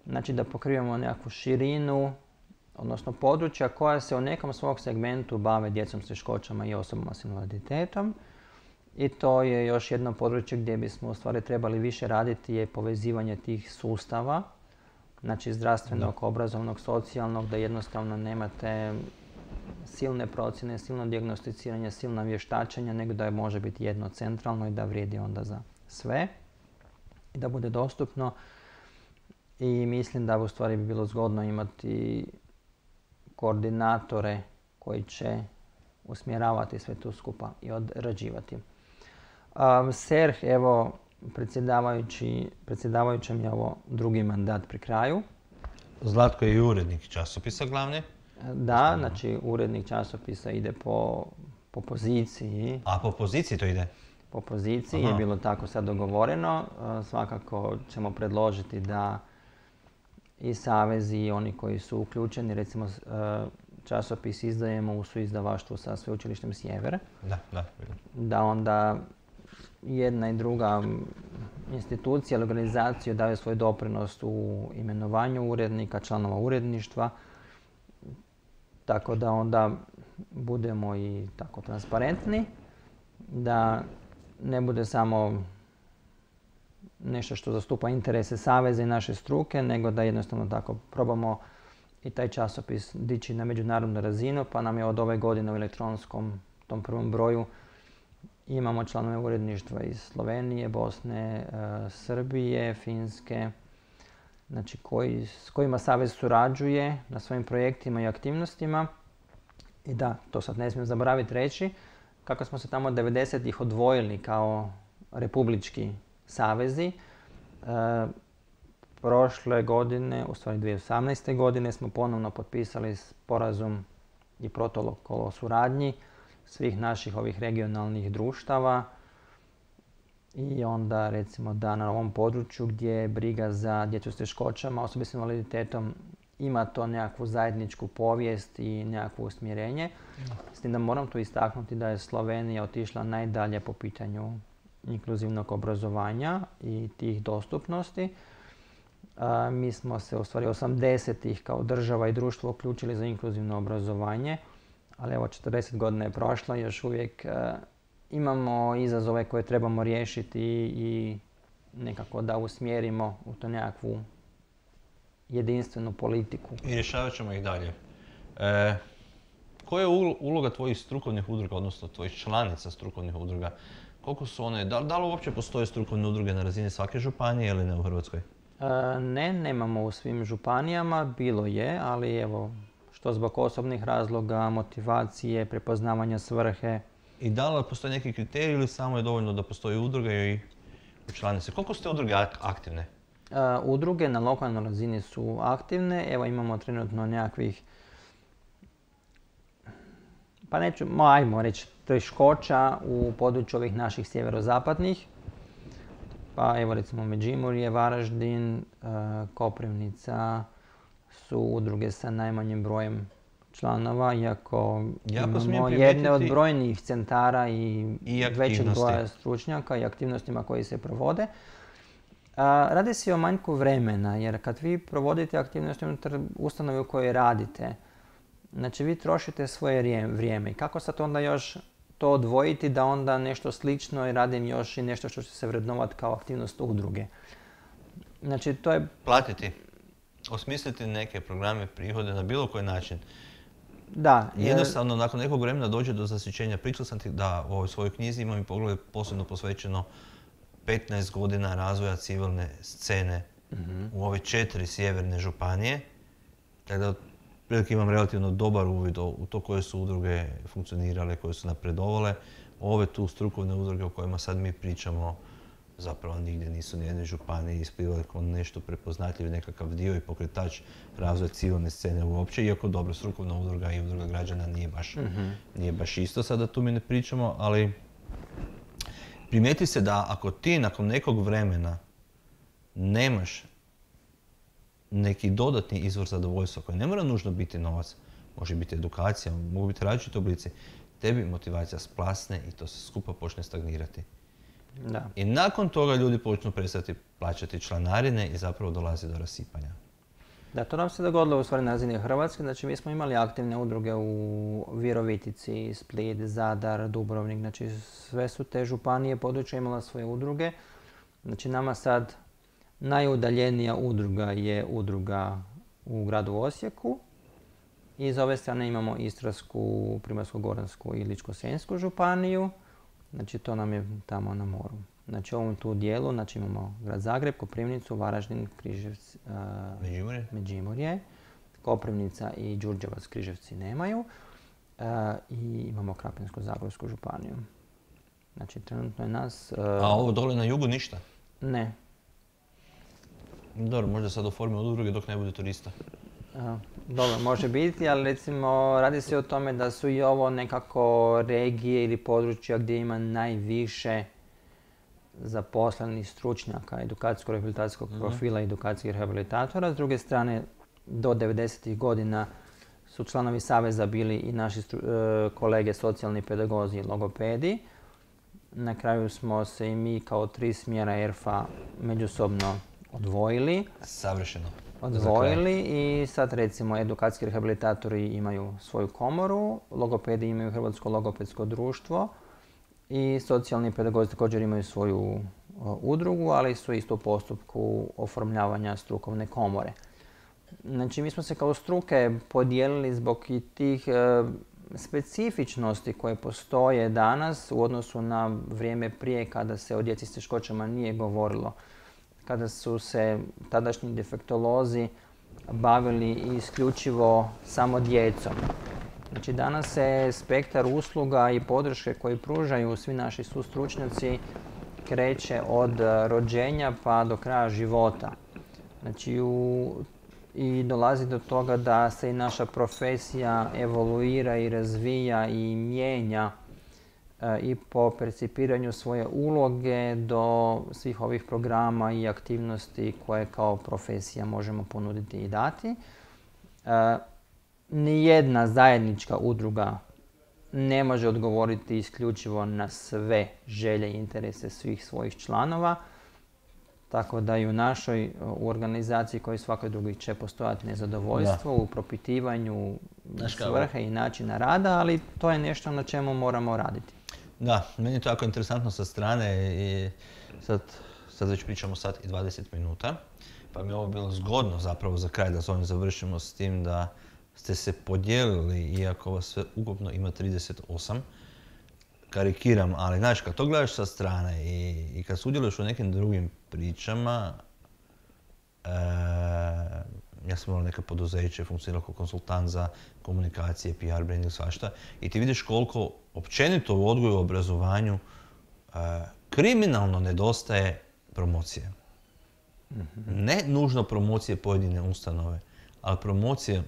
C: Znači da pokrivamo nekakvu širinu, odnosno područja koja se u nekom svog segmentu bave djecom s teškoćama i osobama s invaliditetom. I to je još jedno područje gdje bismo u stvari trebali više raditi je povezivanje tih sustava, znači zdravstvenog, da. obrazovnog, socijalnog, da jednostavno nemate silne procjene, silno dijagnosticiranje, silna vještačenja, nego da je može biti jedno centralno i da vrijedi onda za sve i da bude dostupno. I mislim da u stvari bi bilo zgodno imati koordinatore koji će usmjeravati sve to skupa i odrađivati. Um, S E R H, evo, predsjedavajući, predsjedavajućem je ovo drugi mandat pri kraju.
B: Zlatko je i urednik časopisa glavni?
C: Da, znači urednik časopisa ide po, po poziciji.
B: A po poziciji to ide?
C: Po poziciji. Aha. Je bilo tako sad dogovoreno. Uh, svakako ćemo predložiti da i savezi i oni koji su uključeni, recimo uh, časopis izdajemo u suizdavaštvu sa Sveučilištem Sjever.
B: Da, da.
C: Da onda jedna i druga institucija ili organizacija daju svoj doprinos u imenovanju urednika, članova uredništva. Tako da onda budemo i tako transparentni, da ne bude samo nešto što zastupa interese saveza i naše struke, nego da jednostavno tako probamo i taj časopis dići na međunarodnu razinu, pa nam je od ove godine u elektronskom tom prvom broju imamo članove uredništva iz Slovenije, Bosne, e, Srbije, Finske, znači koji, s kojima savez surađuje na svojim projektima i aktivnostima. I da, to sad ne smijem zaboraviti reći, kako smo se tamo devedesetih odvojili kao republički savezi. E, prošle godine, u stvari dvije tisuće osamnaeste. godine, smo ponovno potpisali sporazum i protokol o suradnji svih naših ovih regionalnih društava i onda recimo da na ovom području gdje je briga za djecu s teškoćama, osobe s invaliditetom, ima to nekakvu zajedničku povijest i nekakvo usmjerenje. S tim da moram tu istaknuti da je Slovenija otišla najdalje po pitanju inkluzivnog obrazovanja i tih dostupnosti. A, mi smo se u stvari osamdesetih kao država i društvo uključili za inkluzivno obrazovanje, ali evo četrdeset godina je prošlo i još uvijek a, imamo izazove koje trebamo riješiti i nekako da usmjerimo u to nekakvu jedinstvenu politiku.
B: I rješavat ćemo ih dalje. E, koja je uloga tvojih strukovnih udruga, odnosno tvojih članica strukovnih udruga? Koliko su one, da, da li uopće postoje strukovne udruge na razini svake županije ili ne u Hrvatskoj?
C: E, ne, nemamo u svim županijama, bilo je, ali evo, što zbog osobnih razloga, motivacije, prepoznavanja svrhe.
B: I da li postoje neki kriterij ili samo je dovoljno da postoji udruga i članice? Koliko ste udruge aktivne?
C: Uh, udruge na lokalnoj razini su aktivne. Evo imamo trenutno nekakvih, pa neću, ajmo reći teškoća u području ovih naših sjeverozapadnih. Pa evo recimo Međimurje, Varaždin, Koprivnica su udruge sa najmanjim brojem članova, iako imamo jedne od brojnijih centara i, i većeg broja stručnjaka i aktivnostima koji se provode. A, radi se o manjku vremena, jer kad vi provodite aktivnosti unutar ustanove u kojoj radite, znači vi trošite svoje vrijeme. I kako sad onda još to odvojiti da onda nešto slično i radim još i nešto što će se vrednovati kao aktivnost udruge? Znači to je...
B: Platiti. Osmisliti neke programe, prihode na bilo koji način.
C: Da.
B: Jer... Jednostavno, nakon nekog vremena dođe do zasićenja. Pričao sam ti da u ovoj svojoj knjizi imam i pogled posebno posvećeno petnaest godina razvoja civilne scene mm-hmm. u ove četiri sjeverne županije. Tako da otprilike imam relativno dobar uvid u to koje su udruge funkcionirale, koje su napredovale. Ove tu strukovne udruge o kojima sad mi pričamo zapravo nigdje nisu nijedne županije isplivale kao nešto prepoznatljiv nekakav dio i pokretač razvoja civilne scene uopće, iako dobro, strukovna udruga i udruga građana nije baš, mm-hmm. nije baš isto, sada tu mi ne pričamo, ali primijeti se da ako ti nakon nekog vremena nemaš neki dodatni izvor zadovoljstva koji ne mora nužno biti novac, može biti edukacija, mogu biti različiti oblici, tebi motivacija splasne i to se skupa počne stagnirati.
C: Da.
B: I nakon toga ljudi počnu prestati plaćati članarine i zapravo dolazi do rasipanja.
C: Da, to nam se dogodilo u stvari na razini Hrvatske. Znači mi smo imali aktivne udruge u Virovitici, Split, Zadar, Dubrovnik. Znači sve su te županije područja imala svoje udruge. Znači nama sad najudaljenija udruga je udruga u gradu Osijeku. I iz ove strane imamo Istarsku, Primorsko-goransku i Ličko-senjsku županiju. Znači to nam je tamo na moru. Znači u ovom tu dijelu znači, imamo grad Zagreb, Koprivnicu, Varaždin, Križevci, uh,
B: Međimurje.
C: Međimurje. Koprivnica i Đurđevac, Križevci nemaju. Uh, I imamo Krapinsko-zagorsku županiju. Znači trenutno je nas... Uh,
B: A ovo dole na jugu ništa?
C: Ne.
B: Dobro, možda sad oformi udruge dok ne bude turista.
C: Uh, dobro, može biti, ali recimo radi se o tome da su i ovo nekako regije ili područja gdje ima najviše zaposlenih stručnjaka edukacijsko-rehabilitacijskog mm-hmm. profila i edukacijskih rehabilitatora. S druge strane, do devedesetih godina su članovi Saveza bili i naši stru, uh, kolege socijalni pedagozi i logopedi. Na kraju smo se i mi kao tri smjera E R F A međusobno odvojili.
B: Savršeno.
C: Odvojili i sad recimo edukacijski rehabilitatori imaju svoju komoru, logopedi imaju Hrvatsko logopedsko društvo i socijalni pedagozi također imaju svoju uh, udrugu, ali su isto u postupku oformljavanja strukovne komore. Znači mi smo se kao struke podijelili zbog i tih uh, specifičnosti koje postoje danas u odnosu na vrijeme prije kada se o djeci s teškoćama nije govorilo. Kada su se tadašnji defektolozi bavili isključivo samo djecom. Znači danas se spektar usluga i podrške koje pružaju svi naši sustručnjaci kreće od rođenja pa do kraja života. Znači u, i dolazi do toga da se i naša profesija evoluira i razvija i mijenja i po percipiranju svoje uloge do svih ovih programa i aktivnosti koje kao profesija možemo ponuditi i dati. E, nijedna zajednička udruga ne može odgovoriti isključivo na sve želje i interese svih svojih članova, tako da i u našoj u organizaciji kao i svakoj drugoj će postojati nezadovoljstvo da. U propitivanju svrhe i načina rada, ali to je nešto na čemu moramo raditi.
B: Da, meni je to jako interesantno sa strane i sad, sad već pričamo sat i dvadeset minuta, pa mi je ovo bilo zgodno zapravo za kraj da s ovim završimo s tim da ste se podijelili, iako vas sve ukupno ima trideset osam, karikiram, ali znaš, kad to gledaš sa strane i, i kad sudjeluješ u nekim drugim pričama, e, ja sam imao neka poduzeće, funkcionirao kao konsultant za komunikacije, P R, branding, svašta, i ti vidiš koliko općenito u odgoju i obrazovanju e, kriminalno nedostaje promocije. Mm-hmm. Ne nužno promocije pojedine ustanove, ali promocije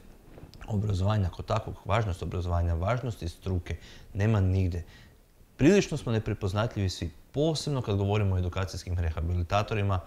B: obrazovanja kao takvog, važnost obrazovanja, važnosti struke, nema nigde. prilično smo neprepoznatljivi svi, posebno kad govorimo o edukacijskim rehabilitatorima.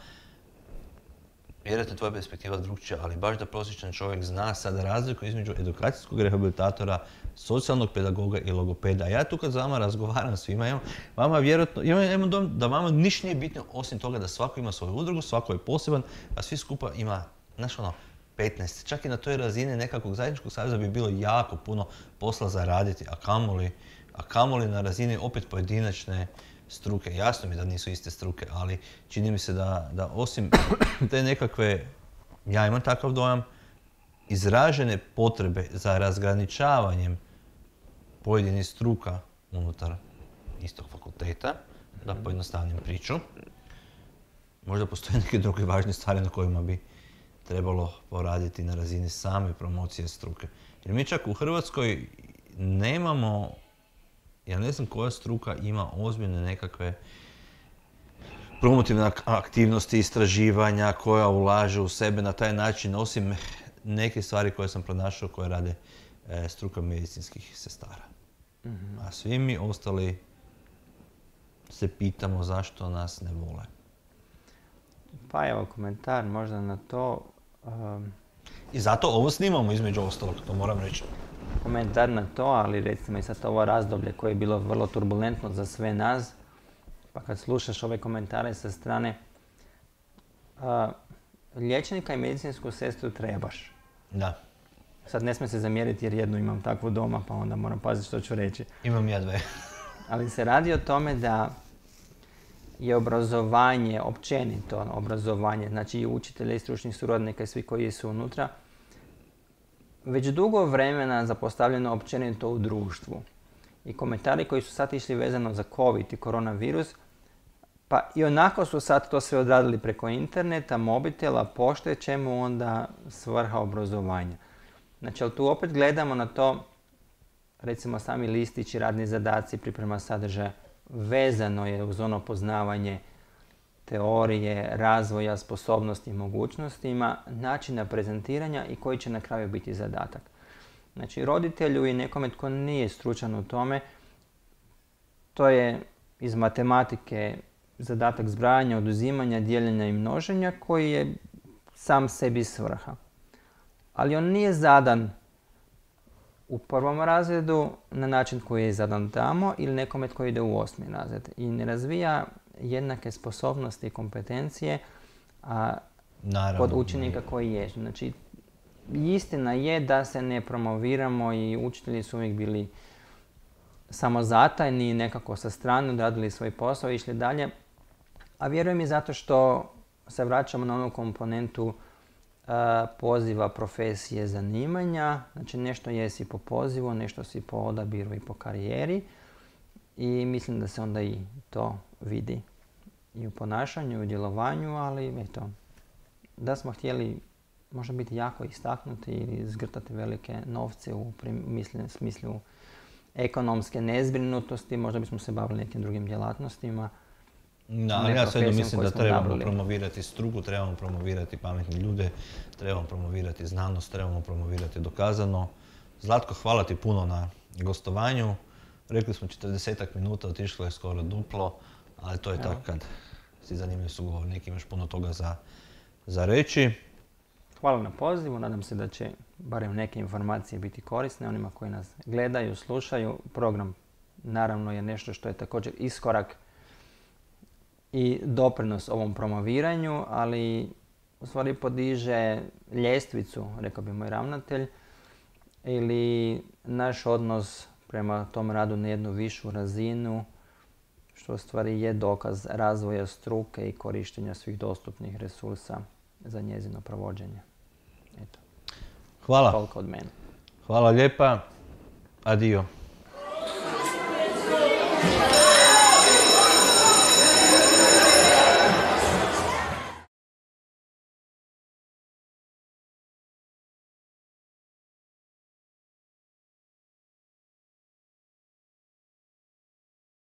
B: Vjerojatno tvoja perspektiva drugčija, ali baš da prosječan čovjek zna sad razliku između edukacijskog rehabilitatora, socijalnog pedagoga i logopeda. Ja tu kad za vama razgovaram svima, imam, vama vjerojatno, imam dom da vama ništa nije bitno osim toga da svako ima svoju udrugu, svako je poseban, a svi skupa ima, znaš ono, petnaest. Čak i na toj razini nekakvog zajedničkog saveza bi bilo jako puno posla za raditi, a kamoli, a kamoli na razini opet pojedinačne struke. Jasno mi da nisu iste struke, ali čini mi se da, da osim te nekakve, ja imam takav dojam, izražene potrebe za razgraničavanjem pojedinih struka unutar istog fakulteta, da pojednostavnim priču, možda postoje neke druge važne stvari na kojima bi trebalo poraditi na razini same promocije struke. Jer mi čak u Hrvatskoj nemamo, ja ne znam koja struka ima ozbiljne nekakve promotivne aktivnosti, istraživanja, koja ulaže u sebe na taj način, osim neke stvari koje sam pronašao koje rade e, struka medicinskih sestara. Mm-hmm. A svi mi ostali se pitamo zašto nas ne vole.
C: Pa evo komentar možda na to. Um,
B: I zato ovo snimamo između ostalog, to moram reći.
C: Komentar na to, ali recimo i sad ovo razdoblje koje je bilo vrlo turbulentno za sve nas, pa kad slušaš ove komentare sa strane, uh, liječnika i medicinsku sestru trebaš.
B: Da.
C: Sad ne smije se zamjeriti jer jednu imam takvu doma, pa onda moram paziti što ću reći.
B: Imam ja dve.
C: Ali se radi o tome da je obrazovanje, općenito obrazovanje, znači i učitelja i stručnih suradnika i svi koji su unutra, već dugo vremena zapostavljeno općenito u društvu. I komentari koji su sad išli vezano za COVID i koronavirus, pa i onako su sad to sve odradili preko interneta, mobitela, pošte, čemu onda svrha obrazovanja. Znači, ali tu opet gledamo na to, recimo sami listići, radni zadaci, priprema sadržaja, vezano je uz ono poznavanje teorije, razvoja, sposobnosti i mogućnostima, načina prezentiranja i koji će na kraju biti zadatak. Znači, roditelju i nekome tko nije stručan u tome, to je iz matematike zadatak zbrajanja, oduzimanja, dijeljenja i množenja koji je sam sebi svrha. Ali on nije zadan u prvom razredu na način koji je zadan tamo ili nekome tko ide u osmi razred i ne razvija jednake sposobnosti i kompetencije a, kod učenika koji jesu. Znači, istina je da se ne promoviramo i učitelji su uvijek bili samozatajni, nekako sa strane odradili svoj posao i išli dalje. A vjerujem i zato što se vraćamo na onu komponentu uh, poziva, profesije, zanimanja. Znači nešto jesi po pozivu, nešto si po odabiru i po karijeri. I mislim da se onda i to vidi i u ponašanju, i u djelovanju, ali eto, da smo htjeli možda biti jako istaknuti ili zgrtati velike novce u misli, smislu ekonomske nezbrinutosti, možda bismo se bavili nekim drugim djelatnostima.
B: Da, ali ja svejedno mislim da trebamo nabili. promovirati struku, trebamo promovirati pametne ljude, trebamo promovirati znanost, trebamo promovirati dokazano. Zlatko, hvala ti puno na gostovanju. Rekli smo četrdesetak minuta, otišlo je skoro duplo, ali to je Evo. tako kad si zanimljiv sugovornik, imaš puno toga za, za reći.
C: Hvala na pozivu, nadam se da će barem neke informacije biti korisne onima koji nas gledaju, slušaju. Program naravno je nešto što je također iskorak i doprinos ovom promoviranju, ali u stvari podiže ljestvicu, rekao bi moj ravnatelj, ili naš odnos prema tom radu na jednu višu razinu, što u stvari je dokaz razvoja struke i korištenja svih dostupnih resursa za njezino provođenje. Eto.
B: Hvala.
C: Toliko od mene.
B: Hvala lijepa. Adio.